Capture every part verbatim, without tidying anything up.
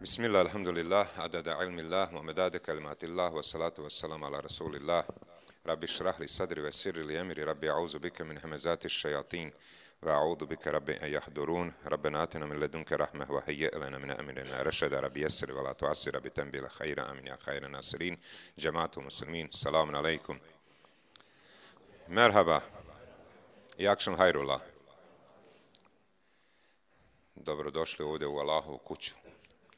Bismillah, alhamdulillah, adada ilmillah, wa medade kalimatillah, wa salatu wa salam ala rasulillah. Rabbi šrah li sadri wa sirri li emiri, Rabbi a'udhu bika min hamazati šajatin, wa a'udhu bika Rabbi an yahdurun, Rabbena atina min ledunke rahmeh, wa hayye lana min amirina rešada, Rabbi jesri wa la tuasir, Rabbi tembila khayra, amin ya khayra nasirin, jama'atu muslimin, salamun alaikum. Merhaba, i akšan hayrullah. Dobrodošli ovdje u Allahovu kuću.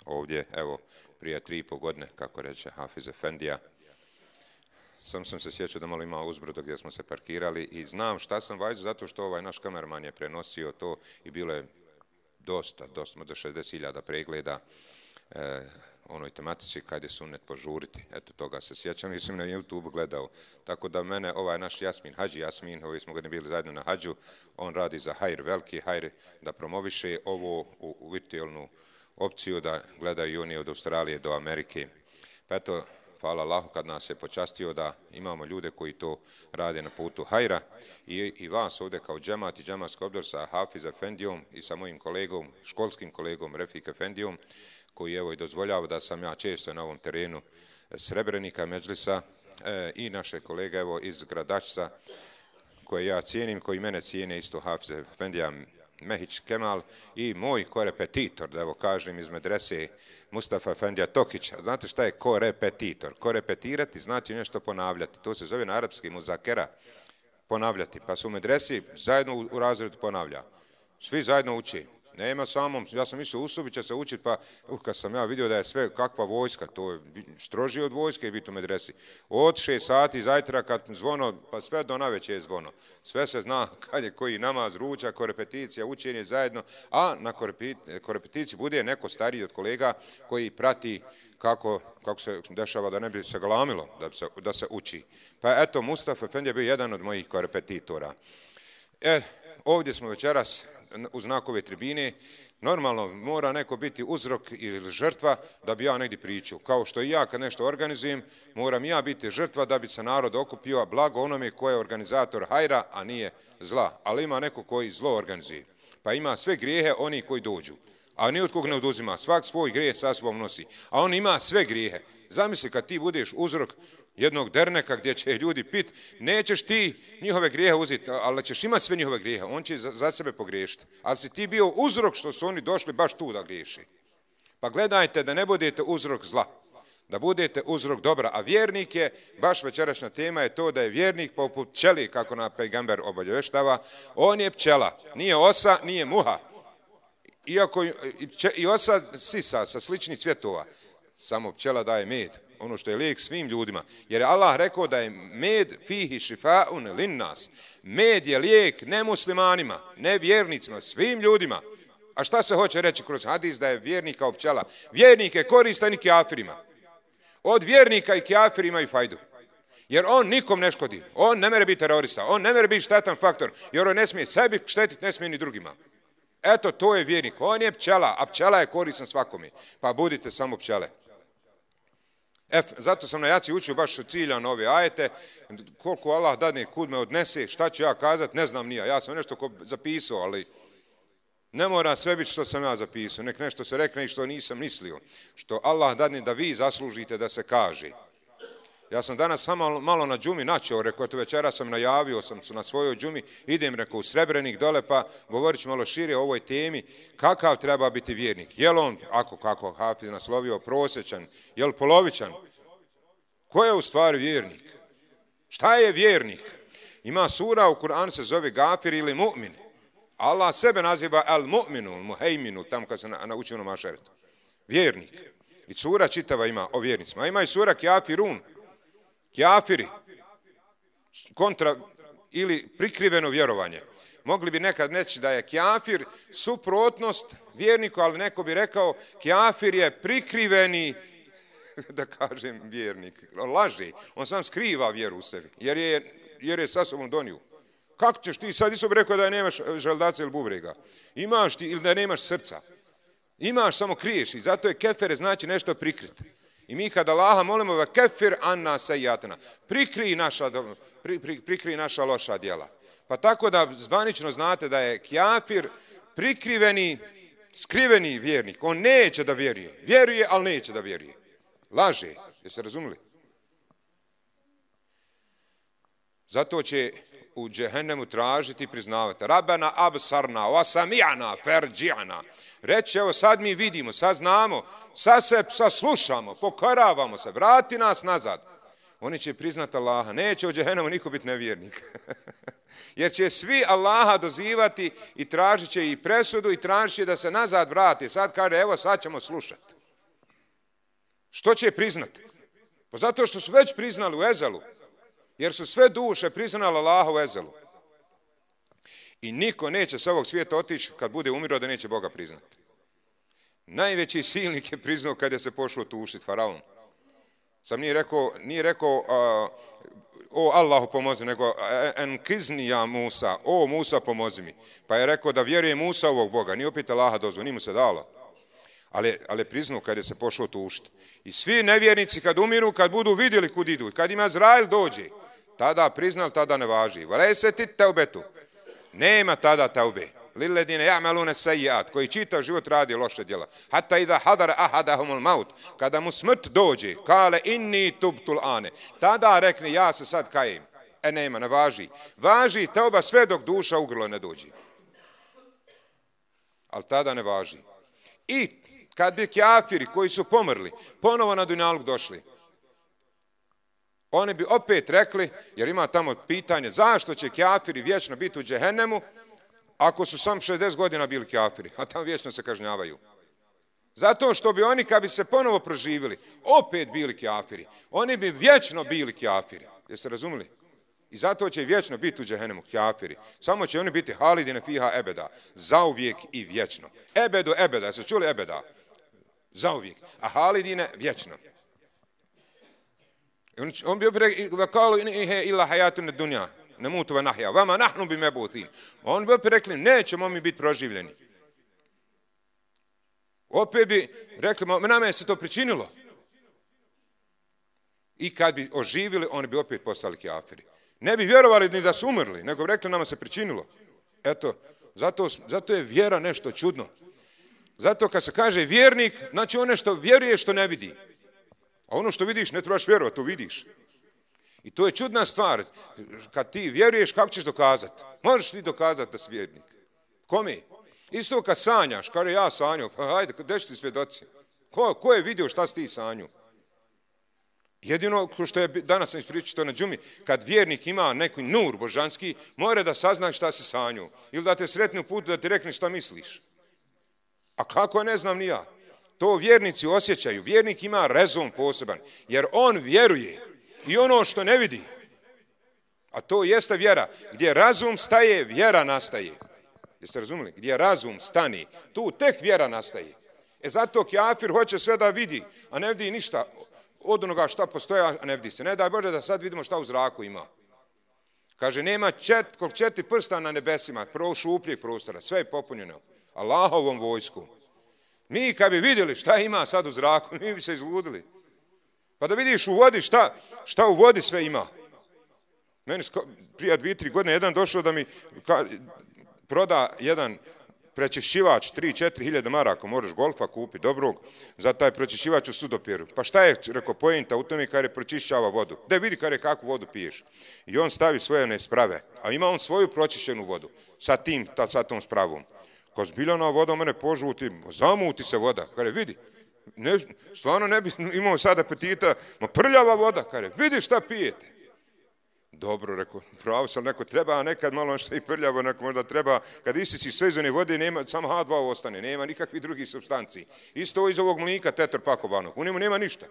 Ovdje, evo, prije tri i po godine, kako reče Hafiz Efendija. Sam sam se sjećao da malo ima uzbrdo gdje smo se parkirali i znam šta sam vajzu, zato što ovaj naš kamerman je prenosio to i bilo je dosta, dosta, do šezdeset hiljada pregleda e, onoj tematici kad je sunnet požuriti. Eto, toga se sjećam i sam na YouTube gledao. Tako da mene ovaj naš Jasmin, Hadži Jasmin, ovi smo godini bili zajedno na Hadžu, on radi za hajr, veliki hajr, da promoviše ovo u, u virtualnu opciju da gledaju oni od Australije do Amerike. Pa eto, hvala Allahu kad nas je počastio da imamo ljude koji to rade na putu hajra i, i vas ovdje kao džemat i džematski odbor sa Hafiz Efendijom i sa mojim kolegom, školskim kolegom Refik Efendijom, koji evo i dozvoljava da sam ja često na ovom terenu Srebrenika, Medžlisa e, i naše kolege evo iz Gradačca koje ja cijenim, koji mene cijene isto Hafiz Efendija Mehić Kemal i moj korepetitor, da evo kažem iz medrese Mustafa Efendija Tokića. Znate šta je korepetitor? Korepetirati znači nešto ponavljati. To se zove na arapski muzakera, ponavljati. Pa su u medresi zajedno u, u razredu ponavlja. Svi zajedno uči. Nema samom, ja sam mislio Usubi će se učiti, pa uh, kad sam ja vidio da je sve kakva vojska, to je strožije od vojske biti u medresi. Od šest sati zajtra kad zvono, pa sve do naveće je zvono. Sve se zna kad je koji namaz, ručak, korepeticija, učenje zajedno, a na korepeticiji bude neko stariji od kolega koji prati kako, kako se dešava da ne bi se galamilo, da se, da se uči. Pa eto, Mustafa Efendija je bio jedan od mojih korepetitora. E, ovdje smo večeras u znakove tribine, normalno mora neko biti uzrok ili žrtva da bi ja negdje pričao. Kao što i ja kad nešto organizujem, moram ja biti žrtva da bi se narod okupio, a blago onome ko je organizator hajra, a nije zla. Ali ima neko koji zlo organizuje. Pa ima sve grijehe oni koji dođu. A ni od kog ne oduzima. Svak svoj grijeh sa sobom nosi. A on ima sve grijehe. Zamisli kad ti budeš uzrok jednog derneka gdje će ljudi pit, nećeš ti njihove grijehe uzeti, ali ćeš imati sve njihove grijehe, on će za, za sebe pogriješiti. Ali si ti bio uzrok što su oni došli baš tu da griješi. Pa gledajte da ne budete uzrok zla, da budete uzrok dobra. A vjernik je, baš večerašnja tema je to da je vjernik poput pčeli, kako na pejgamber obavještava, on je pčela, nije osa, nije muha. Iako i osa sisa sa sličnih cvjetova, samo pčela daje med. Ono što je lijek svim ljudima. Jer je Allah rekao da je med fihi šifaun linnas. Med je lijek ne muslimanima, ne vjernicima, svim ljudima. A šta se hoće reći kroz hadis da je vjernik kao pčela? Vjernik je koristan i kjafirima. Od vjernika i kjafir imaju fajdu. Jer on nikom ne škodi. On ne mere biti terorista. On ne mere biti štetan faktor. Jer on ne smije sebi štetiti, ne smije ni drugima. Eto, to je vjernik. On je pčela, a pčela je koristan svakome. Pa budite samo pčele. F, zato sam na jaci učio baš ciljano ove ajete, koliko Allah dadne kud me odnese, šta ću ja kazat, ne znam nija, ja sam nešto ko zapisao, ali ne mora sve biti što sam ja zapisao, nek nešto se rekne i što nisam mislio, što Allah dadne da vi zaslužite da se kaže. Ja sam danas samo malo na džumi načeo, rekao, eto večera sam najavio, sam na svojoj džumi, idem, rekao, u Srebrenik dole, pa govorit ću malo šire o ovoj temi, kakav treba biti vjernik. Je li on, ako kako Hafiz naslovio, prosječan, je li polovičan? Ko je u stvari vjernik? Šta je vjernik? Ima sura u Kur'anu se zove Gafir ili Mu'min. Allah sebe naziva Al-Mu'minu, Muhejminu, tamo kad se naučio na mašeretu. Vjernik. I sura čitava ima o vjernicima. A ima i sura Kjafirun. Kjafiri, kontra ili prikriveno vjerovanje. Mogli bi nekad reći da je kjafir suprotnost vjerniku, ali neko bi rekao kjafir je prikriveni, da kažem, vjernik. On laže, on sam skriva vjeru u sebi, jer je, jer je sa sobom donio. Kako ćeš ti sad, isto bi rekao da nemaš želdaca ili bubrega. Imaš ti ili da nemaš srca. Imaš, samo kriješ i zato je kefere znači nešto prikriti. I mi kad Allaha molimo da kefir anna sejatna, prikri naša, pri, pri, prikri naša loša djela. Pa tako da zvanično znate da je kjafir prikriveni skriveni vjernik, on neće da vjeruje. Vjeruje, ali neće da vjeruje. Laže. Jeste razumili? Zato će u džehennemu tražiti i priznavati. Rabbena absarna, wa sami'na, ferđi'na. Reći, evo sad mi vidimo, sad znamo, sad se sad slušamo, pokoravamo se, vrati nas nazad. Oni će priznati Allaha. Neće u džehennemu niko biti nevjernik. Jer će svi Allaha dozivati i tražit će i presudu i tražit će da se nazad vrati. Sad kaže, evo sad ćemo slušati. Što će priznati? Pa zato što su već priznali u ezelu. Jer su sve duše priznali Allaha u ezelu. I niko neće sa ovog svijeta otići kad bude umirao da neće Boga priznati. Najveći silnik je priznao kad je se pošao tušiti, faraon. Sam nije rekao, nije rekao uh, o Allahu pomozi, nego en kizni ja Musa, o Musa pomozi mi. Pa je rekao da vjeruje Musa ovog Boga, nije opet Allaha dozvo, nije mu se dalo. Ali, ali priznao kad je se pošao tušiti. I svi nevjernici kad umiru, kad budu vidjeli kud idu, kad im Azrail dođe, tada priznal, tada ne važi. Valeseti teubetu. Nema tada teube. Lilledine ja'malune sejjat, koji čitav život radi loše djela. Hatta idha hadara ahadahumul maut, kada mu smrt dođe, kale inni tubtul ane, tada rekne ja se sad kajem. E nema, ne važi. Važi teuba sve dok duša u grlo ne dođe. Ali tada ne važi. I kad bi kafiri koji su pomrli, ponovo na dunjaluk došli, oni bi opet rekli, jer ima tamo pitanje, zašto će kafiri vječno biti u džehennemu, ako su sam šezdeset godina bili kafiri, a tamo vječno se kažnjavaju. Zato što bi oni, kad bi se ponovo proživili, opet bili kafiri. Oni bi vječno bili kafiri. Jeste razumili? I zato će vječno biti u džehennemu kafiri. Samo će oni biti halidine fiha ebeda. Zauvijek i vječno. Ebedu ebeda. Jeste čuli ebeda? Zauvijek. A halidine vječno. On, on bi opet rekao, ihe illa hajatun dunja. Ne mutu va nahja. Vama nahnu bi mebutin. On bi opet rekli, nećemo mi biti proživljeni. Opet bi rekli, nama je se to pričinilo. I kad bi oživili, oni bi opet postali kafiri. Ne bi vjerovali ni da su umrli, nego bi rekli, nama se pričinilo. Eto, zato, zato je vjera nešto čudno. Zato kad se kaže vjernik, znači on nešto vjeruje što ne vidi. A ono što vidiš, ne trebaš vjerovati, to vidiš. I to je čudna stvar. Kad ti vjeruješ, kako ćeš dokazati? Možeš ti dokazati da si vjernik. Kome? Isto kad sanjaš, kada ja sanjao, pa hajde, gdje ću ti svjedoci? Ko, ko je vidio šta si ti sanju? Jedino što je danas sam ispričao na džumi, kad vjernik ima neki nur božanski, mora da sazna šta si sanju. Ili da te sretni u putu da ti rekne šta misliš. A kako ne znam ni ja. To vjernici osjećaju. Vjernik ima rezon poseban, jer on vjeruje i ono što ne vidi. A to jeste vjera. Gdje razum staje, vjera nastaje. Jeste razumili? Gdje razum stani, tu tek vjera nastaje. E zato kafir hoće sve da vidi, a ne vidi ništa od onoga šta postoje, a ne vidi se. Ne daj Bože da sad vidimo šta u zraku ima. Kaže, nema čet, kog četiri prsta na nebesima, prvo šupljeg prostora, sve je popunjeno. Allahovom vojskom. Mi kad bi vidjeli šta ima sad u zraku, mi bi se izludili. Pa da vidiš u vodi šta, šta u vodi sve ima. Meni prije dvije, tri godine jedan došao da mi ka, proda jedan prečišćivač, tri, četiri hiljade maraka, moraš golfa kupi dobrog, za taj prečišćivač u sudopjeru. Pa šta je, rekao, pojenta u tome kada je pročišćava vodu. Da vidi kada je kakvu vodu piješ. I on stavi svoje nesprave, a ima on svoju pročišćenu vodu sa tim, ta, sa tom spravom. Kad zbiljana voda mene požuti, zamuti se voda. Kada vidi, ne, stvarno ne bi imao sada apetita, ma prljava voda, kada vidi šta pijete. Dobro, rekao, pravo sam, neko treba, a nekad malo nešto i prljavo, neko možda treba, kad isići sve iz one vode, nema, samo ha dva ostane, nema nikakvih drugih substanciji. Isto iz ovog mlika tetrapakovanog, u njemu nema ništa.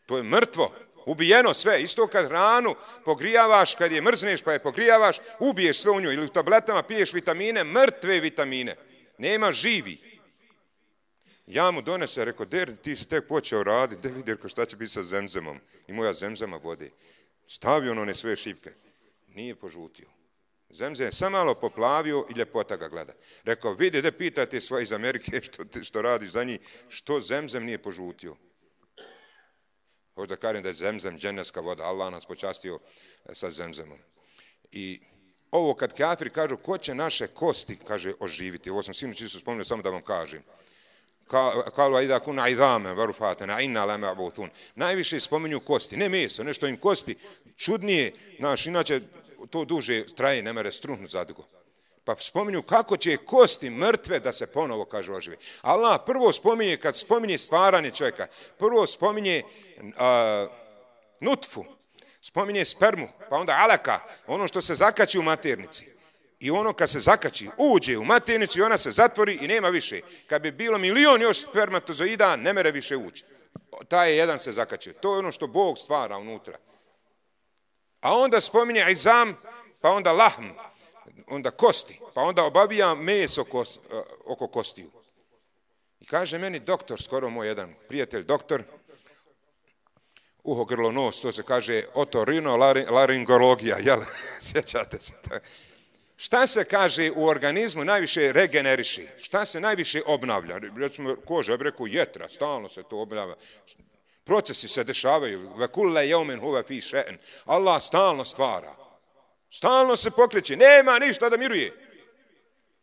To je mrtvo, ubijeno sve. Isto kad hranu pogrijavaš, kad je mrzneš pa je pogrijavaš, ubiješ sve u nju. Ili u tabletama piješ vitamine, mrtve vitamine. Nema živi. Ja mu donese, rekao, der, ti si tek počeo raditi, da vidi, rekao, šta će biti sa zemzemom. I moja zemzema vode. Stavio on one sve šipke. Nije požutio. Zemzem je sam malo poplavio i ljepota ga gleda. Rekao, vidi, da pitate svoje iz Amerike što, što radi za njih, što zemzem nije požutio. Hoću da kažem da je zemzem dženevska voda. Allah nas počastio sa zemzemom. I ovo kad kafiri kažu ko će naše kosti, kaže, oživiti. Ovo sam sinoć isto spomenuo, samo da vam kažem. Kalu a idha kuna idhamen varufatena inna la ma'buthun. Najviše spominju kosti, ne meso, nešto im kosti čudnije, znaš, inače to duže traje, ne mere struhnut zadugo. Pa spominju kako će kosti mrtve da se ponovo, kaže, ožive. Allah prvo spominje, kad spominje stvaranje čovjeka, prvo spominje a, nutfu, spominje spermu, pa onda alaka, ono što se zakači u maternici. I ono kad se zakači, uđe u maternicu i ona se zatvori i nema više. Kad bi bilo milion još spermatozoida, ne mere više ući. Taj jedan se zakače. To je ono što Bog stvara unutra. A onda spominje izam, pa onda lahm, onda kosti, pa onda obavija meso kos, oko kostiju. I kaže meni doktor, skoro moj jedan prijatelj, doktor, uho, grlo, nos, to se kaže otorino-laringologija, jel? Sjećate se to? Šta se, kaže, u organizmu najviše regeneriši? Šta se najviše obnavlja? Recimo, koža, ja bih rekao, jetra, stalno se to obnavlja. Procesi se dešavaju. Vekulle jeumen huve fi še'en. Allah stalno stvara. Stalno se pokreće. Nema ništa da miruje.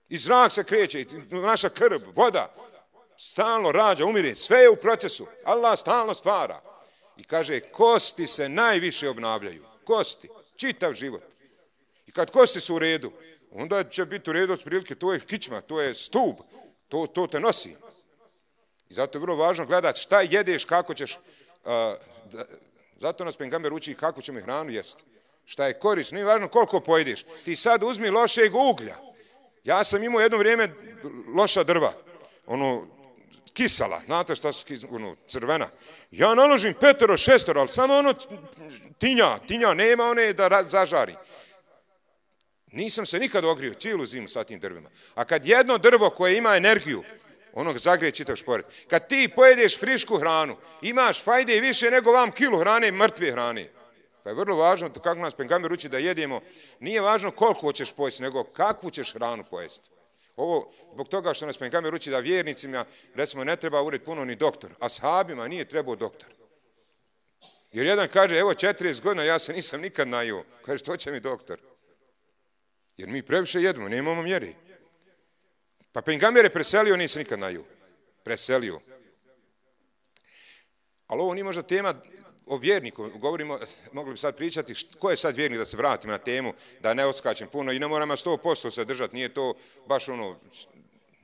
I zrak se kreće, naša krv, voda. Stalno rađa, umire. Sve je u procesu. Allah stalno stvara. I kaže, kosti se najviše obnavljaju. Kosti. Čitav život. I kad kosti su u redu, onda će biti u redu od prilike, to je kičma, to je stub, to, to te nosi. I zato je vrlo važno gledati šta jedeš, kako ćeš, uh, da, zato nas pejgamber uči kako ćemo hranu jesti. Šta je korisno, nije važno koliko pojedeš. Ti sad uzmi lošeg uglja. Ja sam imao jedno vrijeme loša drva, ono, kisala, znate šta su ono, crvena. Ja naložim petero, šestero, ali samo ono tinja, tinja, nema one da zažari. Nisam se nikad ogrio, cijelu zimu sa tim drvima. A kad jedno drvo koje ima energiju, ono zagrije čitav šporet. Kad ti pojedeš frišku hranu, imaš fajde više nego vam kilu hrane, mrtve hrane. Pa je vrlo važno, kako nas pejgamber uči da jedemo, nije važno koliko ćeš pojesti, nego kakvu ćeš hranu pojesti. Ovo, zbog toga što nas pejgamber uči da vjernicima, recimo, ne treba ured puno ni doktor, a sahabima nije trebao doktor. Jer jedan kaže, evo četrdeset godina, ja se nisam nikad najio. Kaže, što će mi doktor? Jer mi previše jedemo, nemamo mjeri. Pa pejgamber je preselio, nije se nikad najio. Preselio. Ali ovo nije možda tema o vjerniku. Govorimo, mogli bi sad pričati, ko je sad vjernik, da se vratimo na temu, da ne odskačem puno i ne moramo sto posto se držati. Nije to baš ono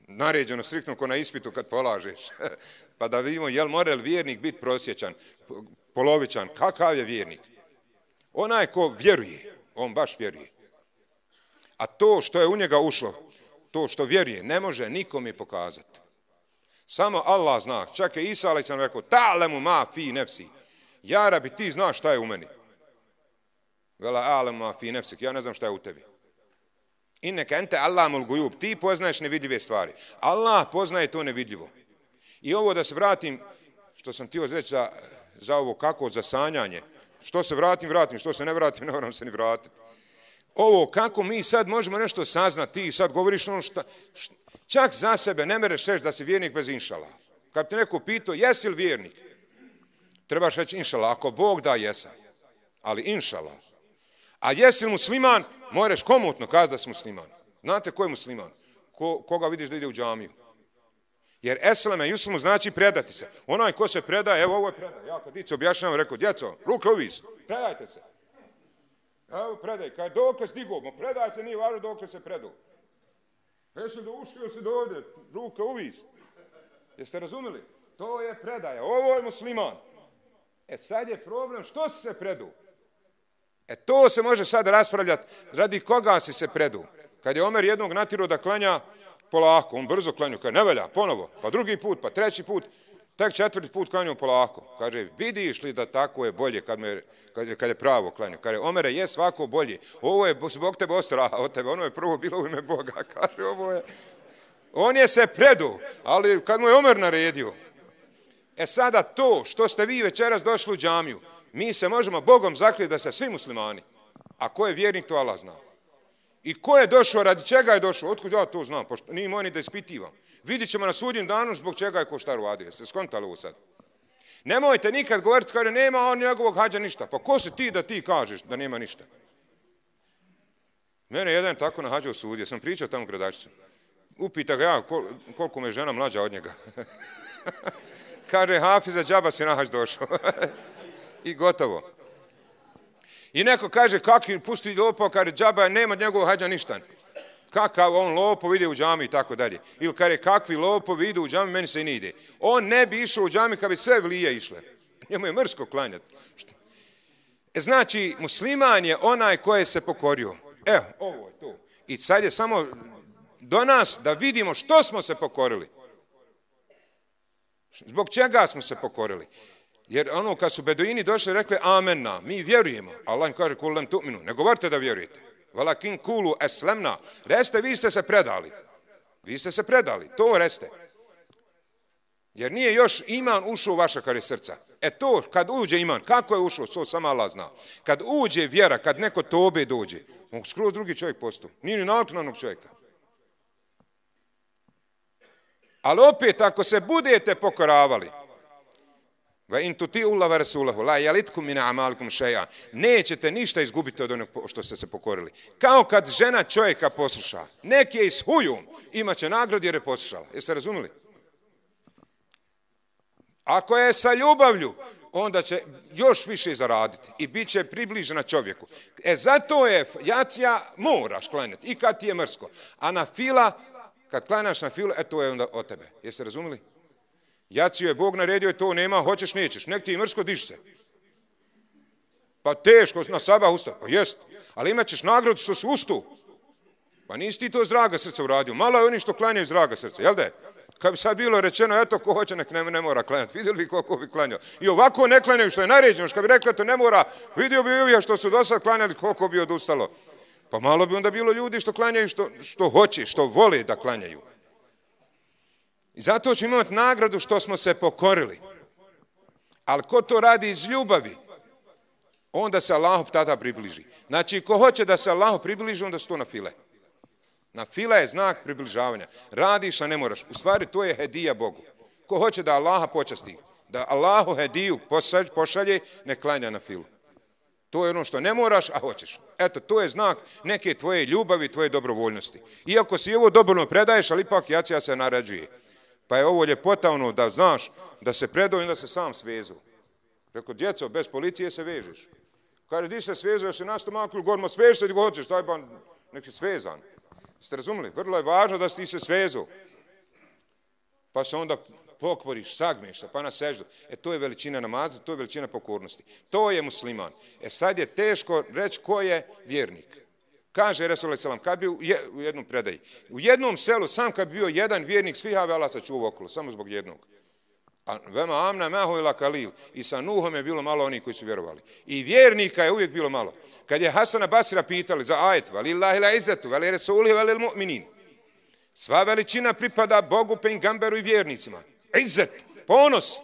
naređeno striktno ko na ispitu kad polažeš. Pa da vidimo, jel mora vjernik biti prosječan, polovičan, kakav je vjernik? Onaj ko vjeruje, on baš vjeruje. A to što je u njega ušlo, to što vjeruje, ne može nikom je pokazati. Samo Allah zna. Čak je Isa alejhi selam rekao, ta'lemu ma fi nefsi. Ja rabi, ti znaš šta je u meni. Vela a'lemu ma fi nefsik. Ja ne znam šta je u tebi. Inneke ente Allahul gujub. Ti poznaješ nevidljive stvari. Allah poznaje to nevidljivo. I ovo da se vratim, što sam htio reći za, za ovo kako, za sanjanje. Što se vratim, vratim. Što se ne vratim, ne moram se ni vratiti. Ovo, kako mi sad možemo nešto saznati, ti sad govoriš ono šta, šta čak za sebe ne mereš reći da si vjernik bez inšala. Kad te neko pitao, jesi li vjernik? Trebaš reći inšala, ako Bog da, jesa. Ali inšala. A jesi li musliman, moraš komotno kazati da si musliman. Znate ko je musliman? Ko, koga vidiš da ide u džamiju? Jer eslame, juslimu znači predati se. Onaj ko se predaje, evo ovo je predaj. Ja kad dice objašnjavam, rekao, djeco, ruke uvis, predajte se. Evo predaj, kad je dokle stigo, predaj se, nije važno dokle se predao. Jesu da ušio se do ovdje, ruke uvis. Jeste razumeli? To je predaja, ovo je musliman. E sad je problem, što si se predao? E to se može sad raspravljati, radi koga si se predao. Kad je Omer jednog natjerao da klanja polako, on brzo klanju, kaže ne velja, ponovo, pa drugi put, pa treći put, tek četvrti put klanju polako. Kaže, vidiš li da tako je bolje kad, me, kad, je, kad je pravo klanju? Kaže, Omere, je svako bolje. Ovo je zbog tebe ostalo od tebe, ono je prvo bilo u ime Boga. Kaže, ovo je... On je se predao, ali kad mu je Omer naredio. E sada to što ste vi večeras došli u džamiju, mi se možemo Bogom zakljeti da se svi muslimani. A ko je vjernik, to Allah zna. I ko je došao, radi čega je došao? Otkud ja to znam? Pošto nije moj ni da ispitivam. Vidit ćemo na sudnjem danu zbog čega je ko šta uradio. Ste skontali ovo sad? Nemojte nikad govoriti kada nema on njegovog hađa ništa. Pa ko si ti da ti kažeš da nema ništa? Mene jedan tako na hađu osudio, sam pričao tamo gradačicu. Upita ga ja kol, koliko me žena mlađa od njega. Kaže, Hafiza, džaba si na hađ došao. I gotovo. I neko kaže, kakvi pusti lopao, kaže, džaba, nema njegovog hađa ništa. Kakav on lopov ide u džami i tako dalje. Ili kaže, kakvi lopov idu u džami, meni se i ne ide. On ne bi išao u džami kad bi sve vlije išle. Njemu je mrsko klanjati. E, znači, musliman je onaj koji se pokorio. Evo, ovo je to. I sad je samo do nas da vidimo što smo se pokorili. Zbog čega smo se pokorili. Jer ono kad su beduini došli rekli amenna, mi vjerujemo. Allah im kaže kul lem tu'minu, ne govorite da vjerujete. Walakin kulu eslemna, reste vi ste se predali. Vi ste se predali, to reste. Jer nije još iman ušao u vaša kare srca. E to, kad uđe iman, kako je ušao, to samo Allah zna. Kad uđe vjera, kad neko tobe dođe, on skroz drugi čovjek postu. Nije ni naklonanog čovjeka. Ali opet, ako se budete pokoravali, va in tuti'ullaha wa rasulahu la yalitkum min a'malikum shay'a, nećete ništa izgubiti od onog što ste se pokorili. Kao kad žena čovjeka posluša, neki je s hujom, imaće nagradu jer je poslušala. Jeste razumili? Ako je sa ljubavlju, onda će još više zaraditi i bit će približena čovjeku. E zato je jacija moraš klanjati i kad ti je mrsko. A na fila, kad klanjaš na filu, e to je onda od tebe. Jeste razumili? Jaciju je Bog naredio i to nema, hoćeš, nećeš. Nek ti je mrsko, diš se. Pa teško na sabah ustati. Pa jest. Ali imat ćeš nagradu što si ustu. Pa nisi ti to iz draga srca uradio. Malo je oni što klanjaju iz draga srca. Jel da? Kad bi sad bilo rečeno, eto, ko hoće, nek ne, ne mora klanjati. Vidjeli bi koliko bi klanjao. I ovako ne klanjaju što je naređeno. Kad bi rekli, to ne mora, vidio bi uvijek što su do sad klanjali, koliko bi odustalo. Pa malo bi onda bilo ljudi što klanjaju što, što hoće, što vole da klanjaju. I zato ćemo imati nagradu što smo se pokorili. Ali ko to radi iz ljubavi, onda se Allahu tada približi. Znači, ko hoće da se Allahu približi, onda su to na file. Na fila je znak približavanja. Radiš, a ne moraš. U stvari, to je hedija Bogu. Ko hoće da Allaha počasti, da Allahu hediju pošalje, ne klanja na filu. To je ono što ne moraš, a hoćeš. Eto, to je znak neke tvoje ljubavi, tvoje dobrovoljnosti. Iako si ovo dobrovoljno predaješ, ali ipak jacija se naređuje. Pa je ovo ljepota ono da znaš da se predao i da se sam svezu. Rekao, djeco, bez policije se vežeš. Kaže, di se svezu, još si na stomaku ili gormo, sveži se, di go hoćeš, taj ban, nek si svezan. Ste razumili? Vrlo je važno da si ti se svezu. Pa se onda pokvoriš, sagmeš se, pa na seždu. E to je veličina namaza, to je veličina pokornosti. To je musliman. E sad je teško reći ko je vjernik. Kaže Resulullah selam, kad bi u jednom predaji, u jednom selu, sam kad bi bio jedan vjernik, svi have Allah sačuvao okolo, samo zbog jednog. A vema amna mahu ila kalil. I sa Nuhom je bilo malo onih koji su vjerovali. I vjernika je uvijek bilo malo. Kad je Hasana Basira pitali za ajet, valillahi la izzetu, vali resulih, valil mu'minin. Sva veličina pripada Bogu, pejgamberu i vjernicima. Izzet, ponos.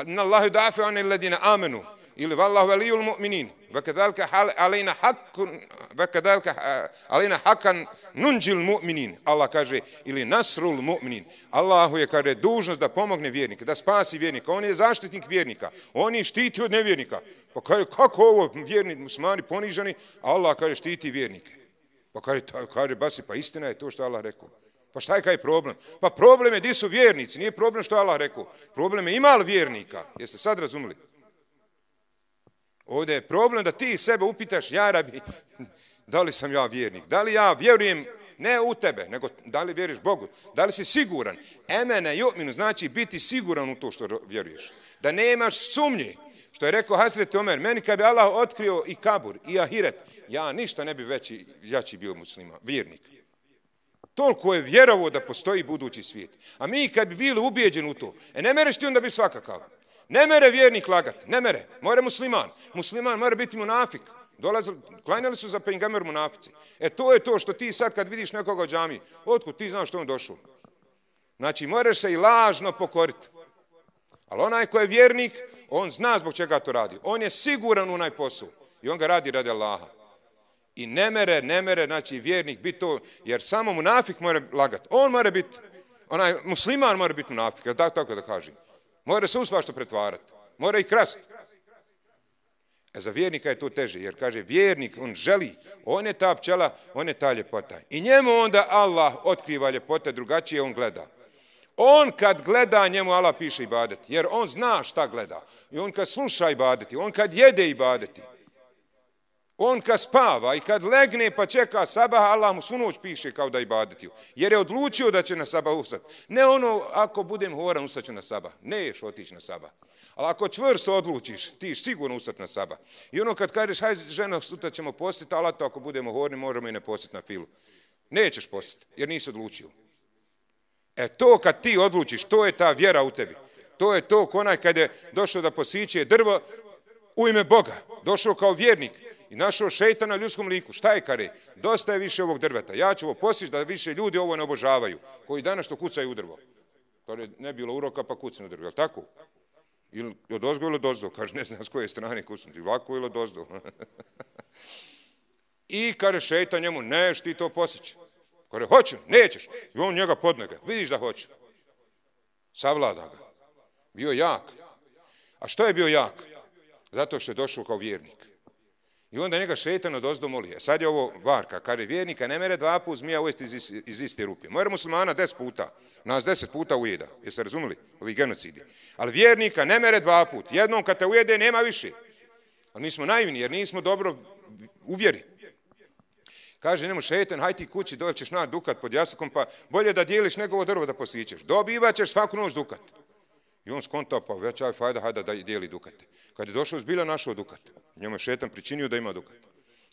Inna Allahu dafi anil ladina amenu. Ili vallahu valijul mu'minin. Vakadalka alejna hakkun, vakadalka alejna hakan nunđil mu'minin. Allah kaže, ili nasrul mu'minin. Allahu je, kaže, dužnost da pomogne vjernika, da spasi vjernika. On je zaštitnik vjernika. On je štiti od nevjernika. Pa kaže, kako ovo vjerni muslimani ponižani, a Allah, kaže, štiti vjernike. Pa kaže, kaže, basi, pa istina je to što Allah rekao. Pa šta je kaj problem? Pa problem je di su vjernici, nije problem što Allah rekao. Problem je ima li vjernika. Jeste sad razumili? Ovdje je problem da ti sebe upitaš, ja rabi, da li sam ja vjernik? Da li ja vjerujem ne u tebe, nego da li vjeruješ Bogu? Da li si siguran? Emene ju'minu znači biti siguran u to što vjeruješ. Da nemaš sumnje. Što je rekao Hazreti Omer, meni kad bi Allah otkrio i kabur, i ahiret, ja ništa ne bi veći, jači bio muslima, vjernik. Toliko je vjerovo da postoji budući svijet. A mi kad bi bili ubijeđeni u to, e ne mereš ti onda biti svakakav. Ne mere vjernik lagati, ne mere, mora musliman. Musliman mora biti munafik. Dolazili, klanjali su za pejgamber munafici. E to je to što ti sad kad vidiš nekoga u džamiji, otkud ti znaš što on došao. Znači moraš se i lažno pokoriti. Ali onaj ko je vjernik, on zna zbog čega to radi. On je siguran u onaj posao i on ga radi radi Allaha. I ne mere, ne mere, znači vjernik biti to, jer samo munafik mora lagati. On mora biti, onaj musliman mora biti munafik, da tako da kažem. Mora se u svašta pretvarati. Mora i krasti. A za vjernika je to teže, jer kaže vjernik, on želi, on je ta pčela, on je ta ljepota. I njemu onda Allah otkriva ljepote, drugačije on gleda. On kad gleda, njemu Allah piše ibadeti, jer on zna šta gleda. I on kad sluša ibadeti, on kad jede ibadeti, on kad spava i kad legne pa čeka sabah, Allah mu svu noć piše kao da ibadeti. Jer je odlučio da će na sabah ustati. Ne ono, ako budem horan, ustaću na sabah. Neš otići na sabah. Ali ako čvrsto odlučiš, ti ćeš sigurno ustati na sabah. I ono kad kažeš, hajde ženo, sutra ćemo postiti, ali to ako budemo horni, možemo i ne postiti na filu. Nećeš postiti, jer nisi odlučio. E to kad ti odlučiš, to je ta vjera u tebi. To je to konaj kad je došao da posiće drvo u ime Boga. Došao kao vjernik i našao šejtana na ljudskom liku. Šta je kare? Dosta je više ovog drveta. Ja ću ovo postići da više ljudi ovo ne obožavaju. Koji danas što kucaju u drvo. Kare, ne bilo uroka pa kucaju u drvo. Je li tako? Ili od ozgo ili od ozdo. Kaže, ne znam s koje strane kucnuti. Ovako ili od ozdo. I kaže šejtan njemu, neš ti to postići. Kaže, hoću, nećeš. I on njega podnege. Vidiš da hoće. Savlada ga. Bio jak. A što je bio jak? Zato što je došao kao vjernik. I onda njega šejtan odozdo moli. E sad je ovo varka. Kaže, vjernika ne mere dva put zmija ujesti iz, iz iste rupe. Mora muslimana deset puta. Nas deset puta ujeda. Jeste razumeli? Ovi genocidi. Ali vjernika ne mere dva put. Jednom kad te ujede, nema više. Ali mi smo naivni jer nismo dobro uvjeri. Kaže njemu šejtan, haj ti kući, doćeš na dukat pod jastukom, pa bolje da dijeliš nego ovo drvo da posićeš. Dobivat ćeš svaku noć dukat. I on skontao, pa već aj fajda, hajda da dijeli dukate. Kad je došao zbilja našao dukat, njemu je šejtan pričinio da ima dukat.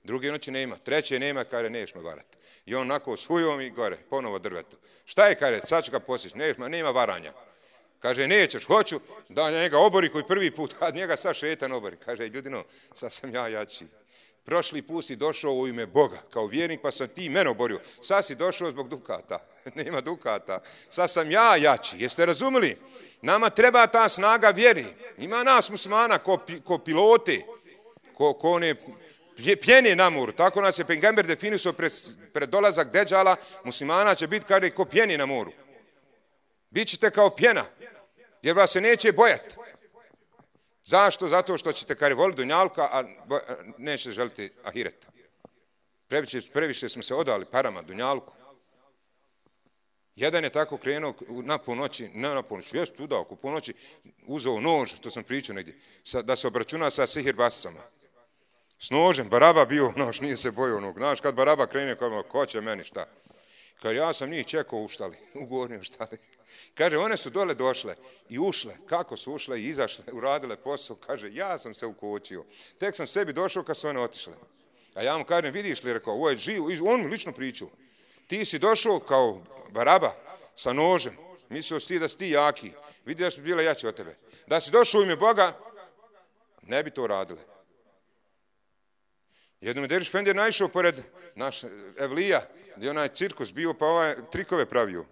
Druge noći nema, treće nema, kaže, neš me varati. I on onako s hujom i gore, ponovo drveto. Šta je, kaže, sad ću ga posići, neš me, nema varanja. Kaže, nećeš, hoću da njega obori koji prvi put, a njega sad šejtan obori. Kaže, ljudino, sad sam ja jači. Prošli put si došao u ime Boga, kao vjernik, pa sam ti mene oborio. Sad si došao zbog dukata. Nema dukata. Sad sam ja jači. Jeste razumeli? Nama treba ta snaga vjeri. Ima nas muslimana ko, ko pilote, ko, ko one pjene na moru. Tako nas je Pejgamber definisao pred, pred dolazak Deđala. Muslimana će biti kada ko pjeni na moru. Bićete kao pjena, jer vas se neće bojati. Zašto? Zato što ćete kare voliti dunjalka, a nećete želiti ahireta. Previše, previše smo se odali parama dunjalku. Jedan je tako krenuo na ponoći, ne na ponoći, jest udao, oko ponoći, uzeo nož, to sam pričao negdje, da se obračuna sa sihirbasama. S nožem, Baraba bio nož, nije se bojao onog. Znaš, kad Baraba krene, kao, ko će meni šta? Kad ja sam njih čekao u štali, u gornjoj štali. Kaže, one su dole došle i ušle. Kako su ušle i izašle, uradile posao. Kaže, ja sam se ukočio. Tek sam sebi došao kad su one otišle. A ja mu kažem, vidiš li, rekao, ovo je živ, on mi lično pričao. Ti si došao kao Baraba sa nožem. Mislio si da si ti jaki. Vidi da su bile jače od tebe. Da si došao u ime Boga, ne bi to radile. Jednom je Derviš Efendija naišao pored naš Evlija, gdje onaj cirkus bio, pa ovaj trikove pravio.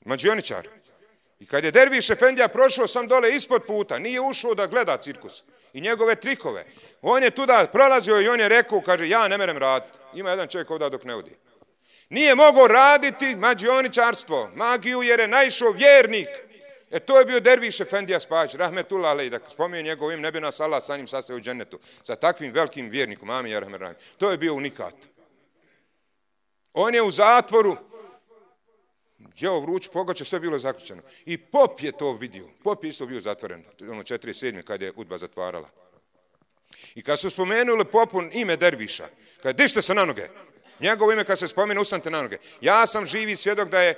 Mađioničar. I kad je Derviš Efendija prošao sam dole ispod puta, nije ušao da gleda cirkus i njegove trikove. On je tuda prolazio i on je rekao, kaže, ja ne merem raditi. Ima jedan čovjek ovdje dok ne odi. Nije mogao raditi mađioničarstvo, magiju, jer je naišao vjernik. E to je bio Derviš Efendija Spajić, rahmetullah alejhi, da spominje njegov ime, ne bi nas Allah sa njim sastavio u džennetu, sa takvim velikim vjernikom, amin ja rahmet. To je bio unikat. On je u zatvoru, jeo vruć, pogače, sve bilo zaključeno. I pop je to vidio. Pop je isto bio zatvoren, ono četrdeset sedme kad je UDBA zatvarala. I kad su spomenuli popu ime Derviša, kad dište se na noge, njegovo ime kad se spomene, ustanite na noge. Ja sam živi svjedok da je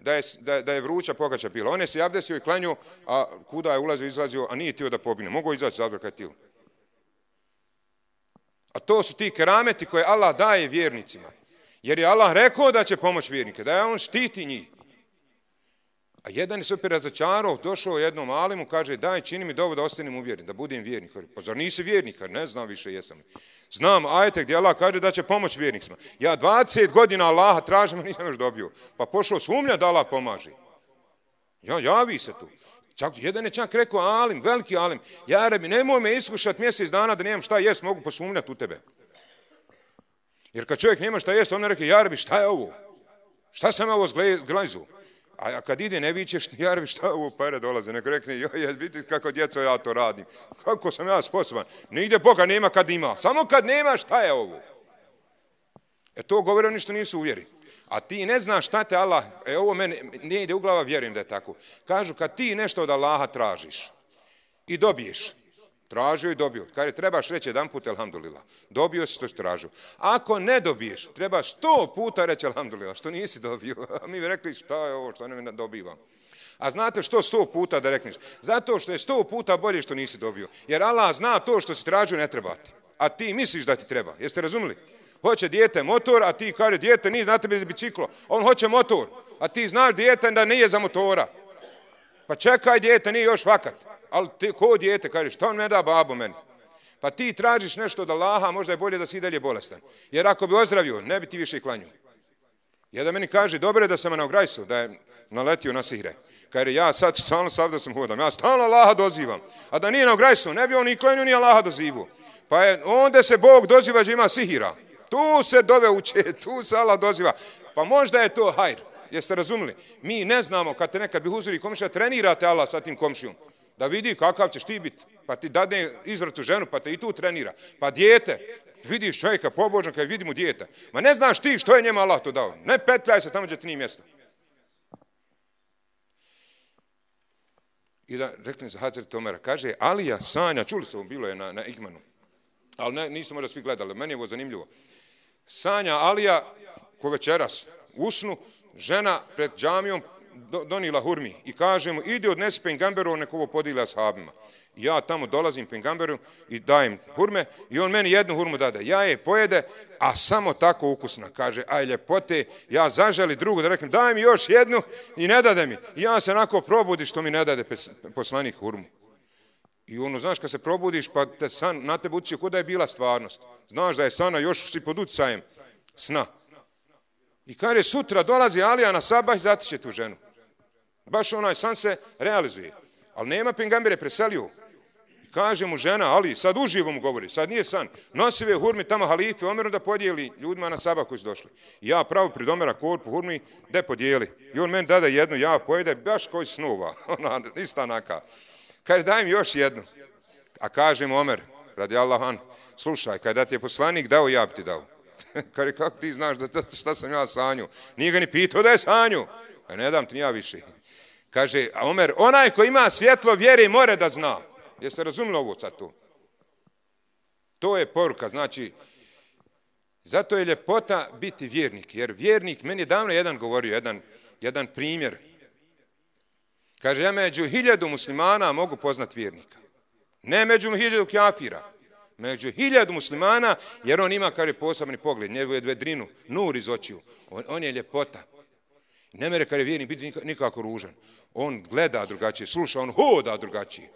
Da je, da, da je vruća pogača bila. On je se javdesio i klanju, a kuda je ulazio, izlazio, a nije tio da pobine. Mogu izaći zatvor kad tio. A to su ti kerameti koje Allah daje vjernicima. Jer je Allah rekao da će pomoći vjernike, da je on štiti njih. A jedan je se opet razočarao, došao jednom alimu, kaže, daj, čini mi dovo da ostanem uvjeren, da budem vjernik. Pa zar nisi vjernik? Ne znam više jesam. Znam ajete gdje Allah kaže da će pomoći vjernicima. Ja dvadeset godina Allaha tražim, a nisam još dobio. Pa pošao sumnja da Allah pomaže. Ja, javi se tu. Čak, jedan je čak rekao, alim, veliki alim, ja rebi, nemoj me iskušati mjesec dana da nemam šta jest, mogu posumnjati u tebe. Jer kad čovjek nema šta jest, on ne reke, ja rebi, šta je ovo? Šta sam ovo zglezu? A kad ide ne vičeš, jarvi šta ovo pare dolaze, nek rekne, joj, vidite kako djeco ja to radim, kako sam ja sposoban. Nigdje Boga nema kad ima, samo kad nema šta je ovo. E to govore oni što nisu uvjeri. A ti ne znaš šta te Allah, e ovo meni ne ide u glava, vjerujem da je tako. Kažu kad ti nešto od Allaha tražiš i dobiješ, tražio i dobio. Kada trebaš reći jedan put, elhamdulillah, dobio si što si tražio. Ako ne dobiješ, trebaš sto puta reći elhamdulillah, što nisi dobio. A mi bi rekli šta je ovo, što ne dobivam. A znate što sto puta da rekneš? Zato što je sto puta bolje što nisi dobio. Jer Allah zna to što si tražio ne treba ti. A ti misliš da ti treba. Jeste razumili? Hoće dijete motor, a ti kaže dijete nije na tebi biciklo. On hoće motor, a ti znaš dijete da nije za motora. Pa čekaj dijete, nije još vakat. Ali ti, ko dijete, kaže, što on me da babo meni? Pa ti tražiš nešto od Allaha, možda je bolje da si i dalje bolestan. Jer ako bi ozdravio, ne bi ti više klanju. Jedan meni kaže, dobro je da sam na grajsu, da je naletio na sihre. Kaže, ja sad stalno sav da sam hodam, ja stalno Allaha dozivam. A da nije na grajsu, ne bi on ni klanju, ni Allaha dozivu. Pa je, onda se Bog doziva da ima sihira. Tu se dove uče, tu se Allah doziva. Pa možda je to hajr. Jeste razumili? Mi ne znamo kad te nekad bi huzuri komšija, trenirate Allah sa tim komšijom. Da vidi kakav ćeš ti biti. Pa ti dadne izvrtu ženu, pa te i tu trenira. Pa dijete, vidiš čovjeka pobožan kad vidi mu dijete. Ma ne znaš ti što je njema Allah to dao. Ne petljaj se tamo gdje ti nije mjesto. I da rekne za Hazret Omera, kaže Alija sanja, čuli se, bilo je na, na Igmanu. Ali ne, nisu možda svi gledali, meni je ovo zanimljivo. Sanja Alija, ko večeras, usnu, žena pred džamijom donila hurmi i kaže mu, idi odnesi pengamberu, nek ovo podijeli ashabima. Ja tamo dolazim pengamberu i dajem hurme i on meni jednu hurmu dade. Ja je pojede, a samo tako ukusna. Kaže, aj ljepote, ja zaželi drugu da reknem, daj mi još jednu i ne dade mi. I ja se onako probudi što mi ne dade poslanik hurmu. I ono, znaš, kad se probudiš, pa te san na tebe utiče kod da je bila stvarnost. Znaš da je sana, još si pod utjecajem sna. I kaže, sutra dolazi Alija na sabah i zatiče tu ženu. Baš onaj san se realizuje. Ali nema pengambere, preselio. I kaže mu žena, Ali, sad uživo mu govori, sad nije san. Nosi ve hurmi tamo halife, Omeru da podijeli ljudima na sabah koji su došli. I ja pravo pred Omera korpu hurmi, de podijeli. I on meni dade jednu, ja pojede, baš koji snuva. Ona, ista naka. Kaže, daj mi još jednu. A kaže mu Omer, radi Allahan, slušaj, kada ti je poslanik dao, ja bi ti dao. Kaže, kako ti znaš da šta sam ja sanju? Nije ga ni pitao da je sanju. A ne dam ti ja više. Kaže, a Omer, onaj ko ima svjetlo vjere more da zna. Jeste razumili ovo sad tu? To je poruka, znači, zato je ljepota biti vjernik. Jer vjernik, meni je davno jedan govorio, jedan, jedan primjer. Kaže, ja među hiljadu muslimana mogu poznat vjernika. Ne među hiljadu kafira. Među hiljadu muslimana, jer on ima, kaže, posebni pogled, njegove vedrinu, nur iz očiju. On, on je ljepota. Ne mere, kaže, vjernik biti nikako ružan. On gleda drugačije, sluša, on hoda drugačije.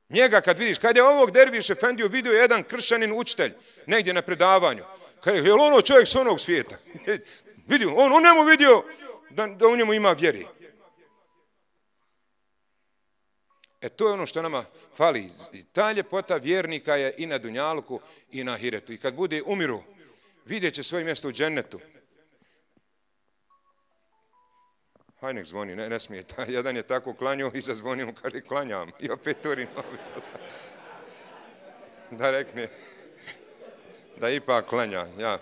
Njega kad vidiš, kad je ovog derviš efendiju vidio jedan kršćanin učitelj, negdje na predavanju, kaže, je li ono čovjek s onog svijeta? Vidio, on, on njemu vidio da, da u njemu ima vjeri. E to je ono što nama fali. Ta ljepota vjernika je i na dunjaluku i na ahiretu. I kad bude umiru, vidjet će svoje mjesto u džennetu. Haj nek zvoni, ne, ne smije. Jedan je tako klanjao i zazvonio mu, kaže, klanjam. I opet turi da rekne da ipak klanja. Ja.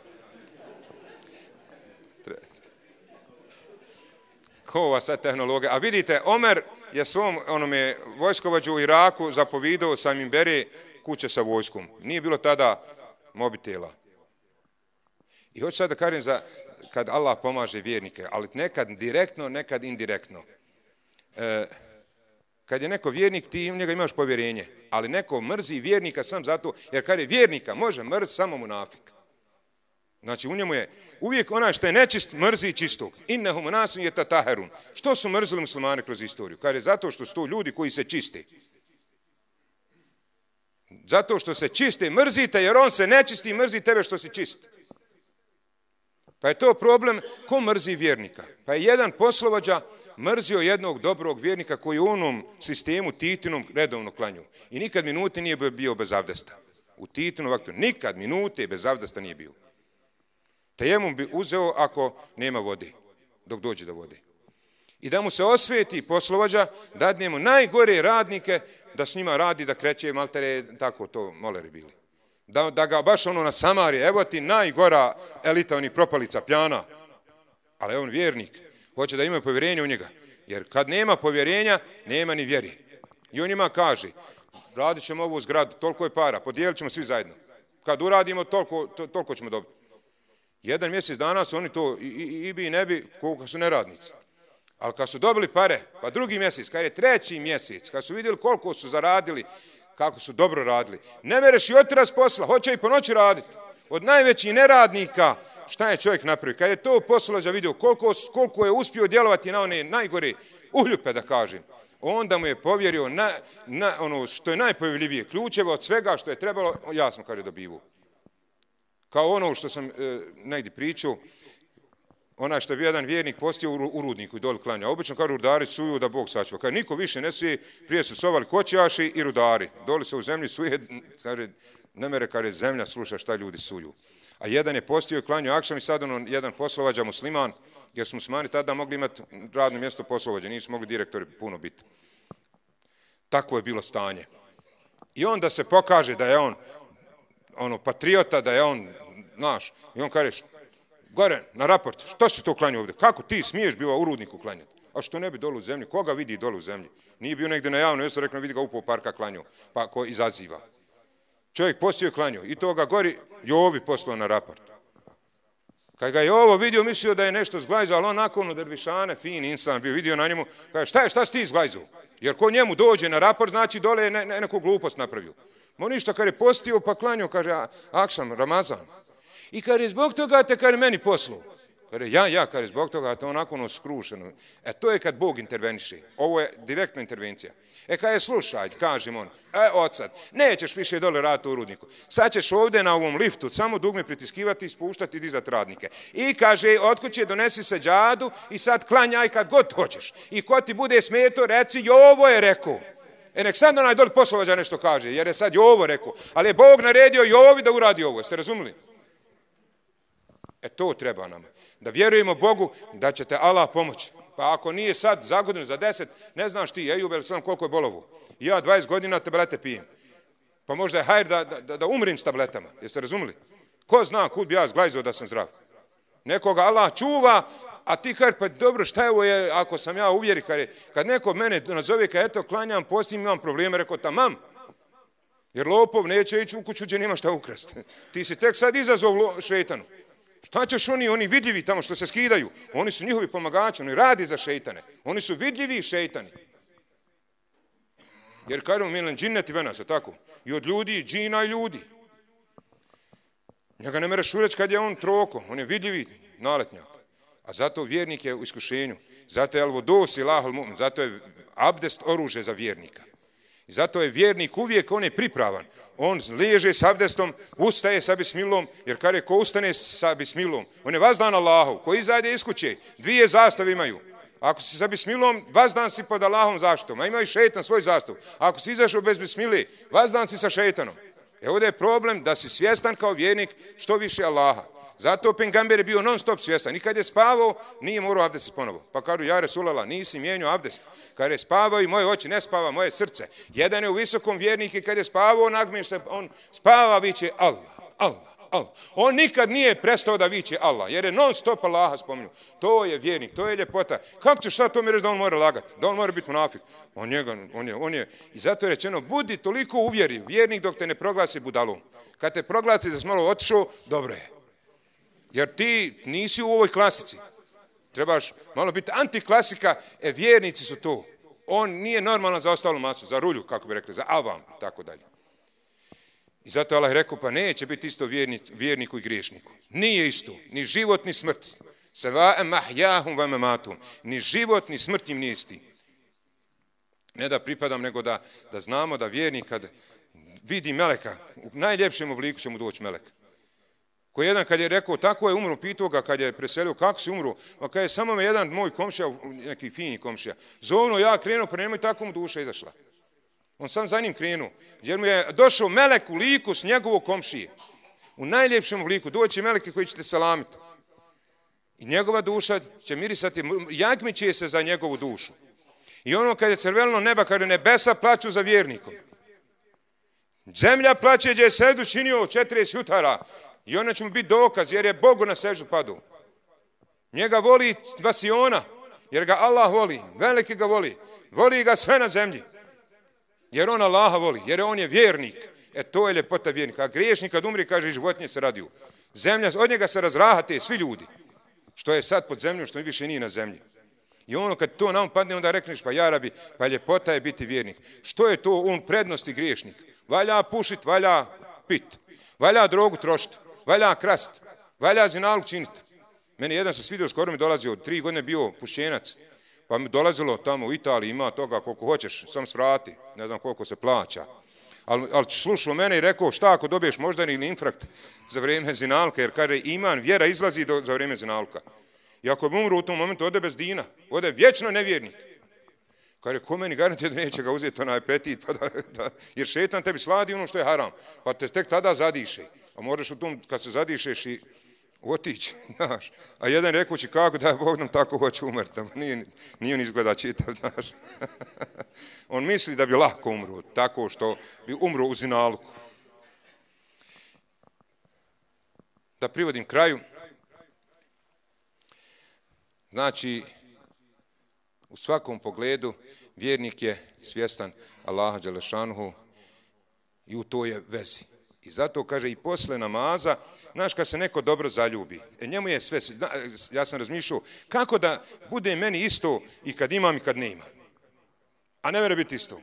Ko ova sad tehnologija? A vidite, Omer je svom onome vojskovođu u Iraku zapovidao sam im bere kuće sa vojskom. Nije bilo tada mobitela. I hoću sad da kažem za kad Allah pomaže vjernike, ali nekad direktno, nekad indirektno. E, kad je neko vjernik, ti u njega imaš povjerenje, ali neko mrzi vjernika sam zato, jer kad je vjernika, može mrzi samo munafik. Znači u njemu je uvijek onaj što je nečist mrzi čistog. Innehum nasun yatataharun. Što su mrzili muslimani kroz istoriju? Kaže zato što su to ljudi koji se čiste. Zato što se čiste, mrzite jer on se nečisti i mrzi tebe što si čist. Pa je to problem ko mrzi vjernika. Pa je jedan poslovođa mrzio jednog dobrog vjernika koji u onom sistemu Titinom redovno klanju. I nikad minute nije bio bez avdesta. U Titinom vaktu nikad minute bez avdesta nije bio. Tejemum bi uzeo ako nema vode, dok dođe do vode. I da mu se osveti poslovođa, dadne mu najgore radnike da s njima radi, da kreće maltere, tako to moleri bili. Da, da ga baš ono na Samari, evo ti najgora elita, onih propalica, pjana, ali on vjernik, hoće da imaju povjerenje u njega. Jer kad nema povjerenja, nema ni vjeri. I on njima kaže, radit ćemo ovu zgradu, toliko je para, podijelit ćemo svi zajedno. Kad uradimo, toliko, to, toliko ćemo dobiti. Jedan mjesec dana su oni to i, i, i bi i ne bi, koliko su neradnici. Ali kad su dobili pare, pa drugi mjesec, kad je treći mjesec, kad su vidjeli koliko su zaradili, kako su dobro radili, ne mereš i otiraz s posla, hoće i po noći raditi. Od najvećih neradnika, šta je čovjek napravio? Kad je to poslovođa vidio koliko, koliko je uspio djelovati na one najgore uhljupe, da kažem, onda mu je povjerio na, na ono što je najpovjerljivije, ključeve od svega što je trebalo, jasno kaže dobivu. Kao ono što sam e, negdje pričao, onaj što je bio jedan vjernik postio u, u rudniku i doli klanja. Obično kao rudari suju da Bog sačuva. Kad niko više ne suje, prije su sovali kočijaši i rudari. Doli se u zemlji suje, kaže, ne mere kaže zemlja sluša šta ljudi suju. A jedan je postio i klanju akšam i sad ono jedan poslovođa musliman, jer su muslimani tada mogli imati radno mjesto poslovođa, nisu mogli direktori puno biti. Tako je bilo stanje. I onda se pokaže da je on ono patriota, da je on naš. I on kaže, gore, na raport, što si to klanju ovdje? Kako ti smiješ biva u rudniku klanjati? A što ne bi dolu u zemlji? Koga vidi dolu u zemlji? Nije bio negdje na javno, jesu rekao, vidi ga upao u parka klanju, pa ko izaziva. Čovjek postio je klanju i toga gori Jovi poslao na raport. Kad ga je ovo vidio, mislio da je nešto zglajzao, ali on nakon od dervišane, fin insan, bio vidio na njemu, kaže, šta je, šta si ti zglajzao? Jer ko njemu dođe na raport, znači dole je ne, ne, neku glupost napravio. Mo ništa, kad je postio pa klanju, kaže, akšam, Ramazan. I kad je zbog toga te, kad je meni poslao. Kada ja, ja, kada je zbog toga, to onako ono skrušeno. E, to je kad Bog interveniše. Ovo je direktna intervencija. E, kad je slušaj, kažem on, e, od sad, nećeš više dole raditi u rudniku. Sad ćeš ovdje na ovom liftu samo dugme pritiskivati, spuštati i dizati radnike. I kaže, otkud će donesi seđadu i sad klanjaj kad god hoćeš. I ko ti bude smeto, reci, Jovo je rekao. E, nek sad onaj dole poslovođa nešto kaže, jer je sad Jovo rekao. Ali je Bog naredio Jovi da uradi ovo. Jeste razumili? E, to treba nama. Da vjerujemo Bogu da će te Allah pomoći. Pa ako nije sad za godinu, za deset, ne znaš ti, Ejub, el sam koliko je bolovo. Ja dvadeset godina tablete pijem. Pa možda je hajr da, da, da umrim s tabletama. Jeste razumili? Ko zna kud bi ja zglajzao da sam zdrav? Nekoga Allah čuva, a ti kaže, pa dobro, šta je ovo je, ako sam ja uvjeri, kad, je, kad neko mene nazove, kad eto, klanjam, postim, imam probleme, rekao, tamam. Jer lopov neće ići u kuću gdje nema šta ukrasti. Ti si tek sad izazov šeitanu. Šta ćeš oni, oni vidljivi tamo što se skidaju? Oni su njihovi pomagači, oni radi za šeitane. Oni su vidljivi šeitani. Jer kažemo, milen džinneti venasa, tako? I od ljudi, i džina i ljudi. Njega ne mereš ureći kad je on troko, on je vidljivi naletnjak. A zato vjernik je u iskušenju. Zato je alvodos i lahal mu'min, zato je abdest oružje za vjernika. I zato je vjernik uvijek, on je pripravan. On leže s abdestom, ustaje sa bismilom, jer kada je ko ustane sa bismilom, on je vazdan Allahov, ko izađe iz kuće, dvije zastave imaju. Ako si sa bismilom, vazdan si pod Allahom zaštitom, a ima i šeitan svoj zastav. Ako si izašao bez bismile, vazdan si sa šeitanom. E ovdje je problem da si svjestan kao vjernik što više Allaha. Zato pengamber je bio non stop svjestan. I kad je spavao, nije morao abdest ponovo. Pa kažu, ja Resulala, nisi mijenio abdest. Kad je spavao i moje oči ne spava, moje srce. Jedan je u visokom vjerniku i kad je spavao, nagmiš se, on spava, viće Allah, Allah, Allah. On nikad nije prestao da viće Allah, jer je non stop Allaha spominju. To je vjernik, to je ljepota. Kako ćeš sad to mi reći da on mora lagati? Da on mora biti munafik? On, njega, on, je, on je. I zato je rečeno, budi toliko uvjeriv, vjernik dok te ne proglasi budalom. Kad te proglasi da si malo otišao, dobro je. Jer ti nisi u ovoj klasici. Trebaš malo biti antiklasika, e vjernici su to. On nije normalan za ostalu masu, za rulju, kako bi rekli, za avam, tako dalje. I zato Allah je rekao, pa neće biti isto vjernik, vjerniku i griješniku. Nije isto, ni život, ni smrt. Seva'e mahjahum wa mamatum. Ni život, ni smrt im nije isti. Ne da pripadam, nego da, da znamo da vjernik kad vidi meleka, u najljepšem obliku će mu doći melek. Ko jedan kad je rekao, tako je umro, pitao ga kad je preselio, kako si umro? Pa kad je samo me jedan moj komšija, neki fini komšija, zovno ja krenuo, pa nemoj, tako mu duša izašla. On sam za njim krenuo, jer mu je došao melek u liku s njegovog komšije. U najljepšem liku, doći meleke koji ćete salamiti. I njegova duša će mirisati, jagmiće se za njegovu dušu. I ono kad je crveno neba, kada nebesa plaću za vjernikom. Zemlja plaće gdje je seždu činio četrdeset jutara. I ona će mu biti dokaz, jer je Bogu na seždu padu. Njega voli vasiona, jer ga Allah voli, veliki ga voli. Voli ga sve na zemlji. Jer on Allaha voli, jer on je vjernik. E to je ljepota vjernika. A griješnik kad umri, kaže, i životinje se radiju. Zemlja, od njega se razrahate svi ljudi. Što je sad pod zemljom, što više nije na zemlji. I ono kad to nam padne, onda rekneš, pa jarabi, pa ljepota je biti vjernik. Što je to on prednosti griješnik? Valja pušit, valja pit. Valja drogu trošiti. Valja krast. Valja zinalog činiti. Meni jedan se svidio, skoro mi dolazio, tri godine bio pušćenac. Pa mi dolazilo tamo u Italiji, ima toga koliko hoćeš, sam svrati, ne znam koliko se plaća. Ali, ali slušao mene i rekao, šta ako dobiješ moždani ili infarkt za vrijeme zinalka, jer kaže iman, vjera izlazi do, za vrijeme zinalka. I ako bi umru u tom momentu, ode bez dina, ode vječno nevjernik. Kaže, ko meni garantije da neće ga uzeti onaj apetit, pa da, da, jer šetan tebi sladi ono što je haram, pa te tek tada zadiše. A moraš u tom, kad se zadišeš i otići, znaš. A jedan rekući kako da Bog nam tako hoće umrti, nije, nije on izgleda čitav, znaš. On misli da bi lako umro, tako što bi umro u zinalku. Da privodim kraju. Znači, u svakom pogledu vjernik je svjestan Allaha dželešanuhu i u toj je vezi. I zato kaže i posle namaza, znaš kad se neko dobro zaljubi, e njemu je sve, ja sam razmišljao, kako da bude meni isto i kad imam i kad ne imam. A ne mora biti isto.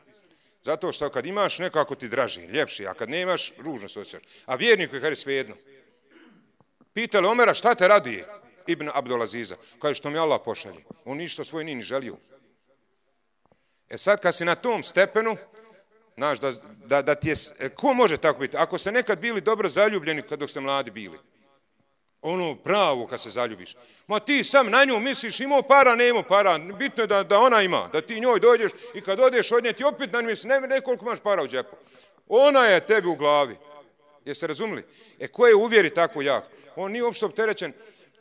Zato što kad imaš nekako ti draži, ljepši, a kad ne imaš, ružno se osjećaš. A vjerniku je kaže svejedno. Pitali Omera šta te raduje? Ibn Abdulaziza. Kaže što mi Allah pošalje. On ništa svoj nije ni želio. E sad kad si na tom stepenu, znaš, da, da, da ti je, ko može tako biti? Ako ste nekad bili dobro zaljubljeni kad dok ste mladi bili, ono pravo kad se zaljubiš, ma ti sam na nju misliš imao para, ne imao para, bitno je da, da ona ima, da ti njoj dođeš i kad odeš od nje ti opet na nju misliš, ne, ne koliko imaš para u džepu. Ona je tebi u glavi. Jeste razumili? E ko je uvjeri tako jak? On nije uopšte opterećen,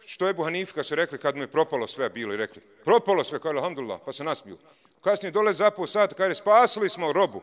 što je Ebu Hanife kad su rekli kad mu je propalo sve bilo i rekli, propalo sve, kaže alhamdulillah, pa se nasmiju. Kasnije dole za pol sata, kaže spasili smo robu.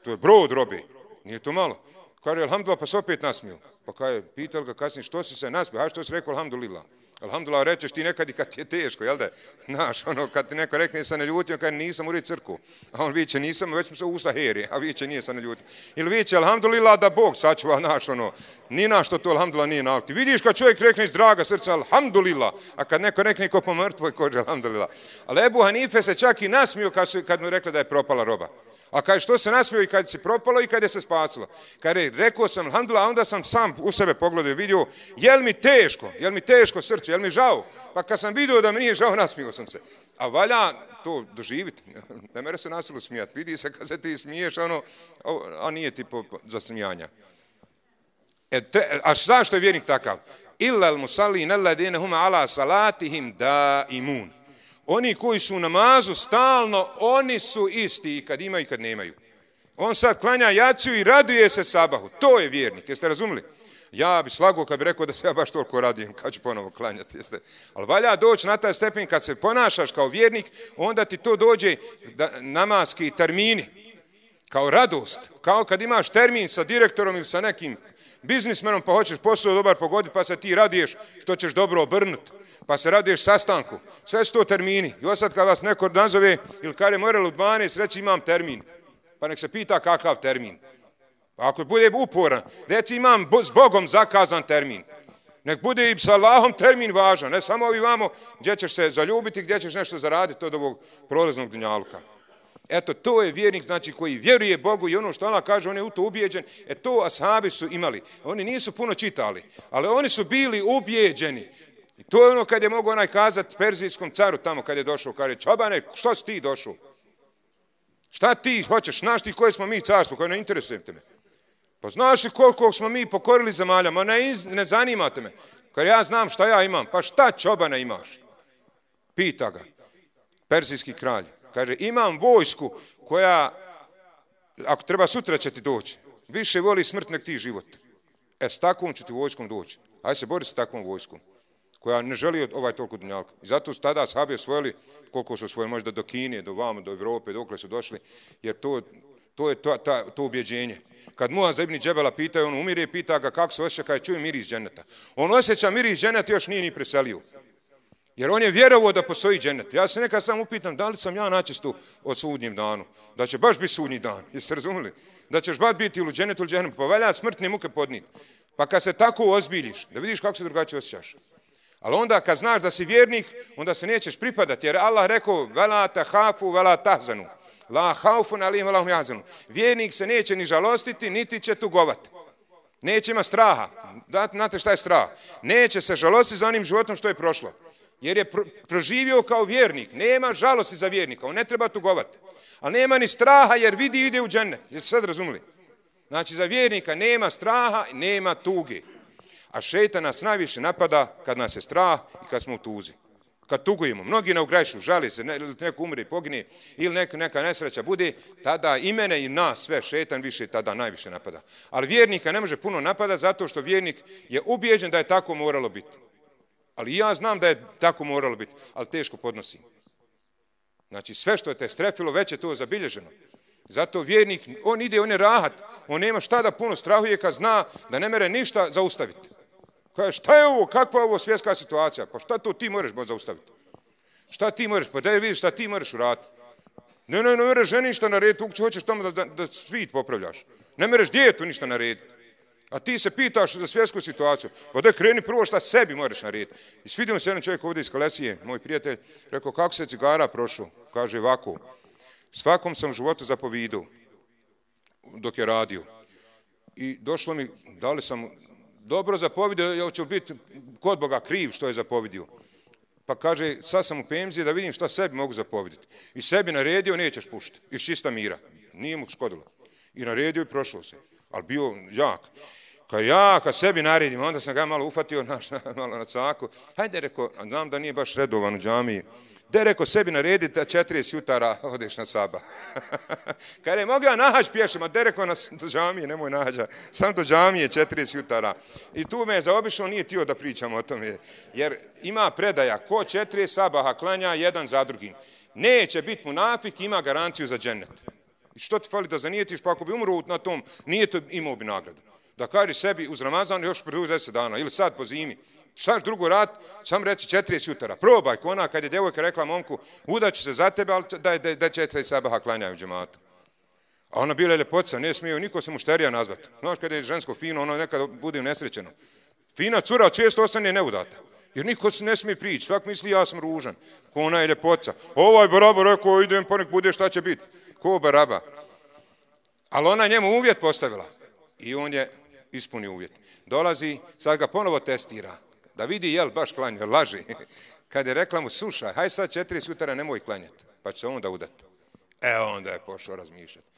To je brod robe, nije to malo. Kaže, alhamdulillah, pa se opet nasmiju. Pa kaže, pitali ga kasnije, što si se nasmio? A što si rekao, alhamdulillah? Alhamdulillah, rečeš ti nekad i kad ti je teško, jel da? Znaš, ono, kad ti neko rekne sa neljutio, kaže, nisam u crku. A on viće, nisam, već smo se usta heri, a viće, nije sa neljutio. Ili viće, alhamdulillah, da Bog sačuva, naš, ono, ni na što to, alhamdulillah, nije nauti. Vidiš kad čovjek rekne iz draga srca, alhamdulillah, a kad neko rekne ko po mrtvoj koži, alhamdulillah. Ali Ebu Hanife se čak i nasmio kad, su, kad mu rekla da je propala roba. A kaže, što se nasmio i kad se propalo i kad je se spasilo? Kaže, rekao sam, alhamdulillah, onda sam sam u sebe pogledao i vidio, jel mi teško, jel mi teško srce, jel mi žao? Pa kad sam vidio da mi nije žao, nasmio sam se. A valja to doživiti, ne mere se nasilu smijati, vidi se kad se ti smiješ, ono, a nije ti po, za smijanja. E, te, a zašto je vjernik takav? Illal musallin alladine hum ala salatihim da imun. Oni koji su u namazu stalno, oni su isti i kad imaju i kad nemaju. On sad klanja jaciju i raduje se sabahu. To je vjernik, jeste razumili? Ja bi slagao kad bi rekao da se ja baš toliko radujem kad ću ponovo klanjati. Jeste? Ali valja doći na taj stepen kad se ponašaš kao vjernik, onda ti to dođe da, namaski termini, kao radost. Kao kad imaš termin sa direktorom ili sa nekim biznismenom pa hoćeš posao dobar pogoditi pa se ti radiješ što ćeš dobro obrnuti. Pa se raduješ sastanku. Sve su to termini. I osad kad vas neko nazove ili kada je moralo u dvanaest reći imam termin. Pa nek se pita kakav termin. Pa ako bude uporan, reci imam s Bogom zakazan termin. Nek bude i s Allahom termin važan. Ne samo ovi vamo gdje ćeš se zaljubiti, gdje ćeš nešto zaraditi od ovog prolaznog dunjaluka. Eto, to je vjernik, znači, koji vjeruje Bogu i ono što Allah kaže, on je u to ubijeđen. E to ashabi su imali. Oni nisu puno čitali, ali oni su bili ubijeđeni. I to je ono kad je mogo onaj kazati perzijskom caru tamo kad je došao, kaže, čobane, što si ti došao? Šta ti hoćeš? Znaš ti koje smo mi carstvo, koje ne interesujete me? Pa znaš li koliko smo mi pokorili zemalja? Ma ne, ne zanimate me. Kad ja znam šta ja imam, pa šta čobana imaš? Pita ga, perzijski kralj. Kaže, imam vojsku koja, ako treba sutra će ti doći, više voli smrt nek ti život. E, s takvom ću ti vojskom doći. Ajde se bori s takvom vojskom. koja ne želi ovaj toliko dunjalka. I zato su tada ashabi osvojili koliko su osvojili, možda do Kine, do vamo, do Evrope, dokle su došli, jer to, to je to, ta, to ubjeđenje. Kad Muaz ibn Džebela pitaju, on umire, pita ga kako se osjeća, kada čuje miris dženeta. On osjeća miris dženeta, još nije ni preselio. Jer on je vjerovao da postoji dženet. Ja se nekad sam upitam, da li sam ja načistu od sudnjem danu? Da će baš biti sudnji dan, jeste razumili? Da ćeš baš biti ili u dženetu ili dženetu, pa valja smrtne muke podnijeti. Pa kad se tako ozbiljiš, da vidiš kako se drugačije osjećaš. Ali onda kad znaš da si vjernik, onda se nećeš pripadati, jer Allah rekao, vela tahafu, vela tahzanu. La haufun alim, vela hum jahzanu. Vjernik se neće ni žalostiti, niti će tugovati. Neće ima straha. Znate šta je strah? Neće se žalostiti za onim životom što je prošlo. Jer je proživio kao vjernik. Nema žalosti za vjernika, on ne treba tugovati. Ali nema ni straha jer vidi ide u džennet. Jeste sad razumili? Znači za vjernika nema straha, nema tuge. A šejtan nas najviše napada kad nas je strah i kad smo u tuzi. Kad tugujemo, mnogi ne ugrešu, žali se, ne, neko umre i pogine, ili neka, neka nesreća bude, tada i mene i nas sve šejtan više tada najviše napada. Ali vjernika ne može puno napada zato što vjernik je ubijeđen da je tako moralo biti. Ali ja znam da je tako moralo biti, ali teško podnosim. Znači sve što je te strefilo, već je to zabilježeno. Zato vjernik, on ide, on je rahat, on nema šta da puno strahuje kad zna da ne mere ništa zaustaviti. Kaže, šta je ovo, kakva je ovo svjetska situacija? Pa šta to ti moraš zaustaviti? Šta ti moraš? Pa da je vidiš šta ti moraš uraditi. Ne, ne, ne mereš ženi ništa narediti, uopće hoćeš tamo da, da, da svit popravljaš. Ne mereš djetu ništa narediti. A ti se pitaš za svjetsku situaciju. Pa da kreni prvo šta sebi moraš narediti. I svidio se jedan čovjek ovdje iz Kalesije, moj prijatelj, rekao, kako se cigara prošao? Kaže, ovako, svakom sam životu zapovidu dok je radio. I došlo mi, da li sam dobro zapovidio, jel će biti kod Boga kriv što je zapovidio. Pa kaže, sad sam u penziji da vidim šta sebi mogu zapoviditi. I sebi naredio, nećeš puštiti. Iz čista mira. Nije mu škodilo. I naredio i prošlo se. Ali bio jak. Kad ja, kad sebi naredim, onda sam ga malo ufatio, naš, malo na caku. Hajde, rekao, znam da nije baš redovan u džamiji. De, rekao, sebi narediti da četrdeset jutara odeš na sabah. Kad je mogu ja nahađ pješem, a de, rekao, na, do džamije, nemoj nahađa, sam do džamije četrdeset jutara. I tu me je zaobišao, nije tio da pričamo o tome. Jer ima predaja, ko četrdeset sabaha klanja jedan za drugim. Neće biti munafik, ima garanciju za džennet. I što ti fali da zanijetiš, pa ako bi umro na tom, nije to imao bi nagradu. Da kažeš sebi uz Ramazan još prvi deset dana, ili sad po zimi. Šta drugo rad, sam reći četrdeset jutara. Probaj, ko ona kad je djevojka rekla momku, udaću se za tebe, ali da, da, da četiri sabaha klanjaju džematu. A ona bila je ljepotica, ne smije niko se mušterija nazvati. Znaš kada je žensko fino, ono nekada bude nesrećeno. Fina cura često ostane neudata. Jer niko se ne smije prići, svak misli ja sam ružan. Ko ona je ljepotica. Ovaj baraba rekao, idem pa nek bude šta će biti. Ko baraba. Ali ona njemu uvjet postavila. I on je ispunio uvjet. Dolazi, sad ga ponovo testira. Da vidi jel baš klanja, laži. Kad je rekla mu, slušaj, haj sad četiri jutara nemoj klanjati, pa će se onda udati. E onda je pošao razmišljati.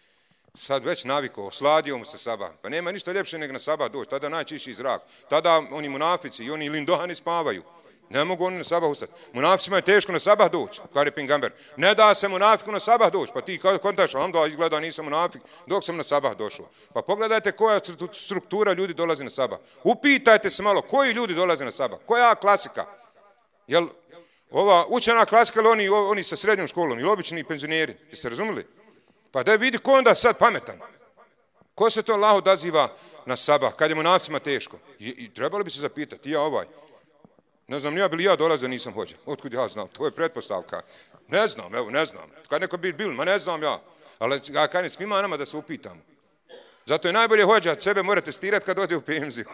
Sad već navikao, osladio mu se sabah. Pa nema ništa ljepše nego na sabah doći, tada najčišći zrak. Tada oni munafici i oni lindohani spavaju. Ne mogu oni na sabah ustati. Munaficima je teško na sabah doći, kar je Pingamber. Ne da se munafiku na sabah doći, pa ti kontaš, onda izgleda nisam munafik dok sam na sabah došao. Pa pogledajte koja struktura ljudi dolazi na sabah. Upitajte se malo, koji ljudi dolaze na sabah? Koja klasika? Jel ova učena klasika ili oni, oni sa srednjom školom, ili obični penzioneri? Jeste razumili? Pa da vidi ko onda sad pametan. Ko se to Allah odaziva na sabah, kad je munaficima teško? I, i trebalo bi se zapitati, ja ovaj. Ne znam, ja bili ja dolazio, nisam hođa. Otkud ja znam? To je pretpostavka. Ne znam, evo, ne znam. Kad neko bi bil, ma ne znam ja. Ali ja kažem svima nama da se upitamo. Zato je najbolje hođa, sebe mora testirati kad ode u penziju.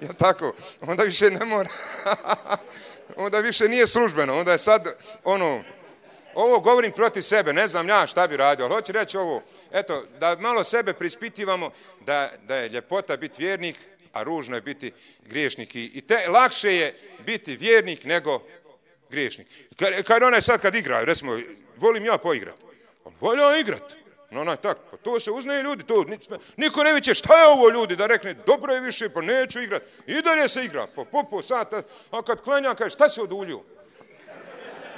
Ja tako, onda više ne mora. Onda više nije službeno, onda je sad, ono, ovo govorim protiv sebe, ne znam ja šta bi radio, ali hoću reći ovo, eto, da malo sebe prispitivamo, da, da je ljepota biti vjernik, a ružno je biti griješnik. I te, lakše je biti vjernik nego griješnik. Kad, kad onaj sad kad igraju, recimo, volim ja poigrati. Volim ja igrati. No, onaj tak, pa to se uznaje ljudi, to niko ne viće šta je ovo ljudi, da rekne dobro je više, pa neću igrati. I dalje se igra, po po, po sata, a kad klanja, kaže šta se oduljio?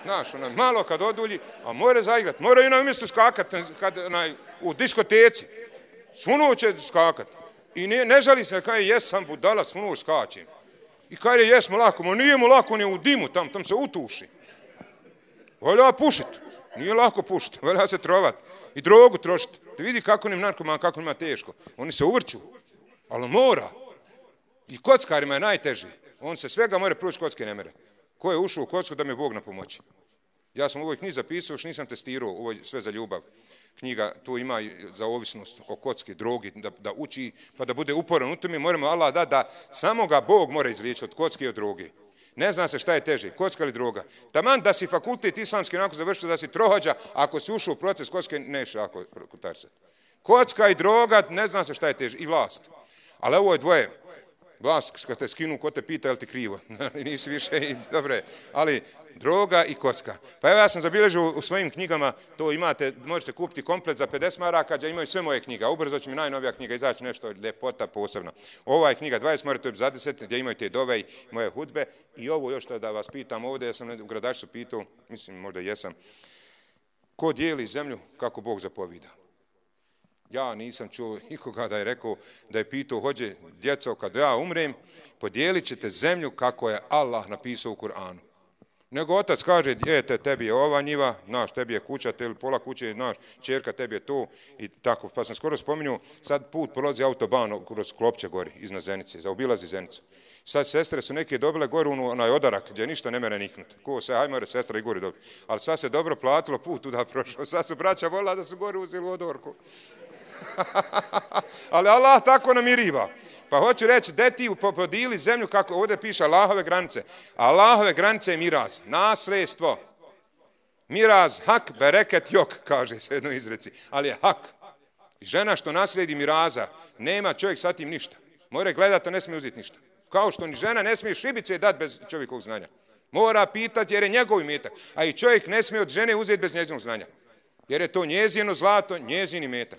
Znaš, onaj, malo kad odulji, a more zaigrati, mora i na umjestu skakati kad, onaj, u diskoteci. Svunuo će skakati. I ne, ne žali se, kaže, jesam budala, svunuo skačem. I kaže, jesmo lako, ma nije mu lako, on je u dimu, tam, tam se utuši. Valja pušit, nije lako pušiti, valja se trovat. I drogu trošiti. Da vidi kako nim narkoman, kako ima teško. Oni se uvrću, ali mora. I kockarima je najteži. On se svega more proći, kocke ne mere. Ko je ušao u kocku da mi Bog na pomoći? Ja sam u ovoj knjizi zapisao, još nisam testirao, ovo je sve za ljubav. Knjiga tu ima za ovisnost o kocki, drogi, da, da uči, pa da bude uporan u tome. Moramo Allah da, da samo ga Bog mora izliječiti od kocke i od droge. Ne zna se šta je teže, kocka ili droga. Taman da si fakultet islamski nakon završio, da si trohođa, ako si ušao u proces kocke, neš ako kutarsat. Kocka i droga, ne zna se šta je teže, i vlast. Ali ovo je dvoje. Vlast, kad te skinu, ko te pita, je li ti krivo? Nisi više, i dobre. Ali droga i kocka. Pa evo ja sam zabilježio u svojim knjigama, to imate, možete kupiti komplet za pedeset maraka, gdje imaju sve moje knjiga. Ubrzo će mi najnovija knjiga izaći, nešto ljepota posebno. Ova je knjiga dvadeset maraka, to je za deset, gdje imaju te dove i moje hudbe. I ovo još da vas pitam ovdje, ja sam u Gradačcu pitao, mislim možda jesam, ko dijeli zemlju kako Bog zapovida? Ja nisam čuo nikoga da je rekao, da je pitao, hođe, djeco, kad ja umrem, podijelit ćete zemlju kako je Allah napisao u Kur'anu. Nego otac kaže, djete, tebi je ova njiva, naš, tebi je kuća, tebi pola kuće, naš, čerka, tebi je to, i tako. Pa sam skoro spominjao, sad put prolazi autoban kroz Klopće gori, iznad Zenice, zaobilazi Zenicu. Sad sestre su neke dobile gore u onaj odarak, gdje ništa ne mere niknuti. Ko se, hajmo, sestra i gori dobili. Ali sad se dobro platilo, put tuda prošao. Sad su braća volila da su gore uzeli odorku. Ali Allah tako namiriva. Pa hoću reći, deti podijeli zemlju, kako ovdje piše, Allahove granice. Allahove granice je miraz, nasledstvo. Miraz, hak, bereket, jok, kaže se jedno izreci. Ali je hak. Žena što nasledi miraza, nema čovjek sa tim ništa. Mora gledati, a ne smije uzeti ništa. Kao što ni žena ne smije šibice dati bez čovjekovog znanja. Mora pitati jer je njegov imetak. A i čovjek ne smije od žene uzeti bez njezinog znanja. Jer je to njezino zlato, njezin imetak.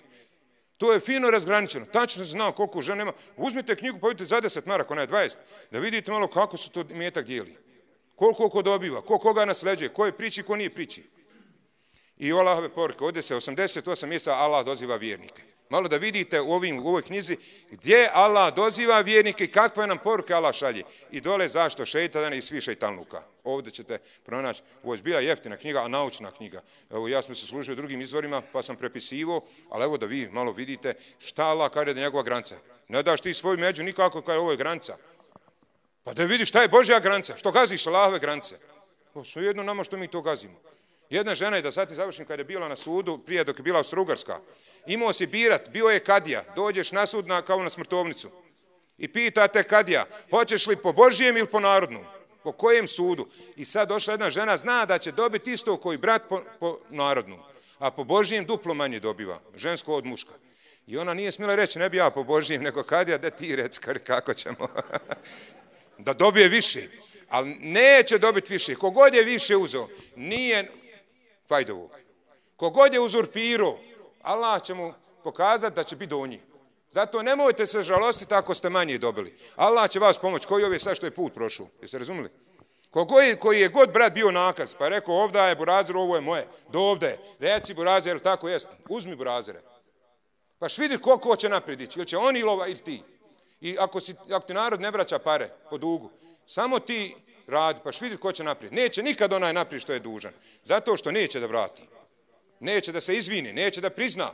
To je fino razgraničeno. Tačno se zna koliko žena ima. Uzmite knjigu, pa vidite za deset maraka, ona je dvadeset. Da vidite malo kako se to imetak dijeli. Koliko ko dobiva, ko koga nasleđuje, ko je priči, ko nije priči. I Allahove poruke. Ovdje se osamdeset osam mjesta Allah doziva vjernike. Malo da vidite u, ovim, u ovoj knjizi gdje Allah doziva vjernike i kakve nam poruke Allah šalje. I dole zašto šeitan i svi šeitanluka. Ovdje ćete pronaći, ovo je bila jeftina knjiga, a naučna knjiga. Evo, ja sam se služio drugim izvorima, pa sam prepisivo, ali evo da vi malo vidite šta Allah kaže da je njegova granica. Ne daš ti svoju među nikako kao ovo je granica. Pa da vidiš šta je Božja granica, što gaziš Allahove granice. O, svejedno nama što mi to gazimo. Jedna žena je da sad završim kada je bila na sudu, prije dok je bila Austro-Ugarska, imao si birat, bio je kadija, dođeš na sud na, kao na smrtovnicu i pitate kadija, hoćeš li po Božjem ili po narodnom? Po kojem sudu? I sad došla jedna žena, zna da će dobiti isto koji brat po, po narodnom, a po Božjem duplo manje dobiva, žensko od muška. I ona nije smjela reći, ne bi ja po Božjem, nego kadija, da ti reci kako ćemo. Da dobije više, ali neće dobiti više. Kogod je više uzeo, nije fajdovo. Kogod je uzurpirao, Allah će mu pokazati da će biti donji. Zato nemojte se žalostiti ako ste manje dobili. Allah će vas pomoći. Koji je sad što je put prošao? Jeste razumili? Koji, koji je god brat bio nakaz, pa je rekao ovdje je burazir, ovo je moje. Do ovdje. Reci burazir, tako jest. Uzmi burazire. Pa š vidi koliko će naprijed ići. Ili će on ili ova ili ti. I ako, si, ako ti narod ne vraća pare po dugu, samo ti radi, pa š vidi ko će naprijed. Neće nikad onaj naprijed što je dužan. Zato što neće da vrati. Neće da se izvini, neće da prizna.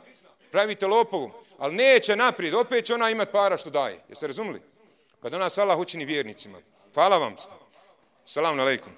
Pravite lopovom, ali neće naprijed. Opet će ona imati para što daje. Jeste razumili? Pa da nas Allah učini vjernicima. Hvala vam. Salamu alejkum.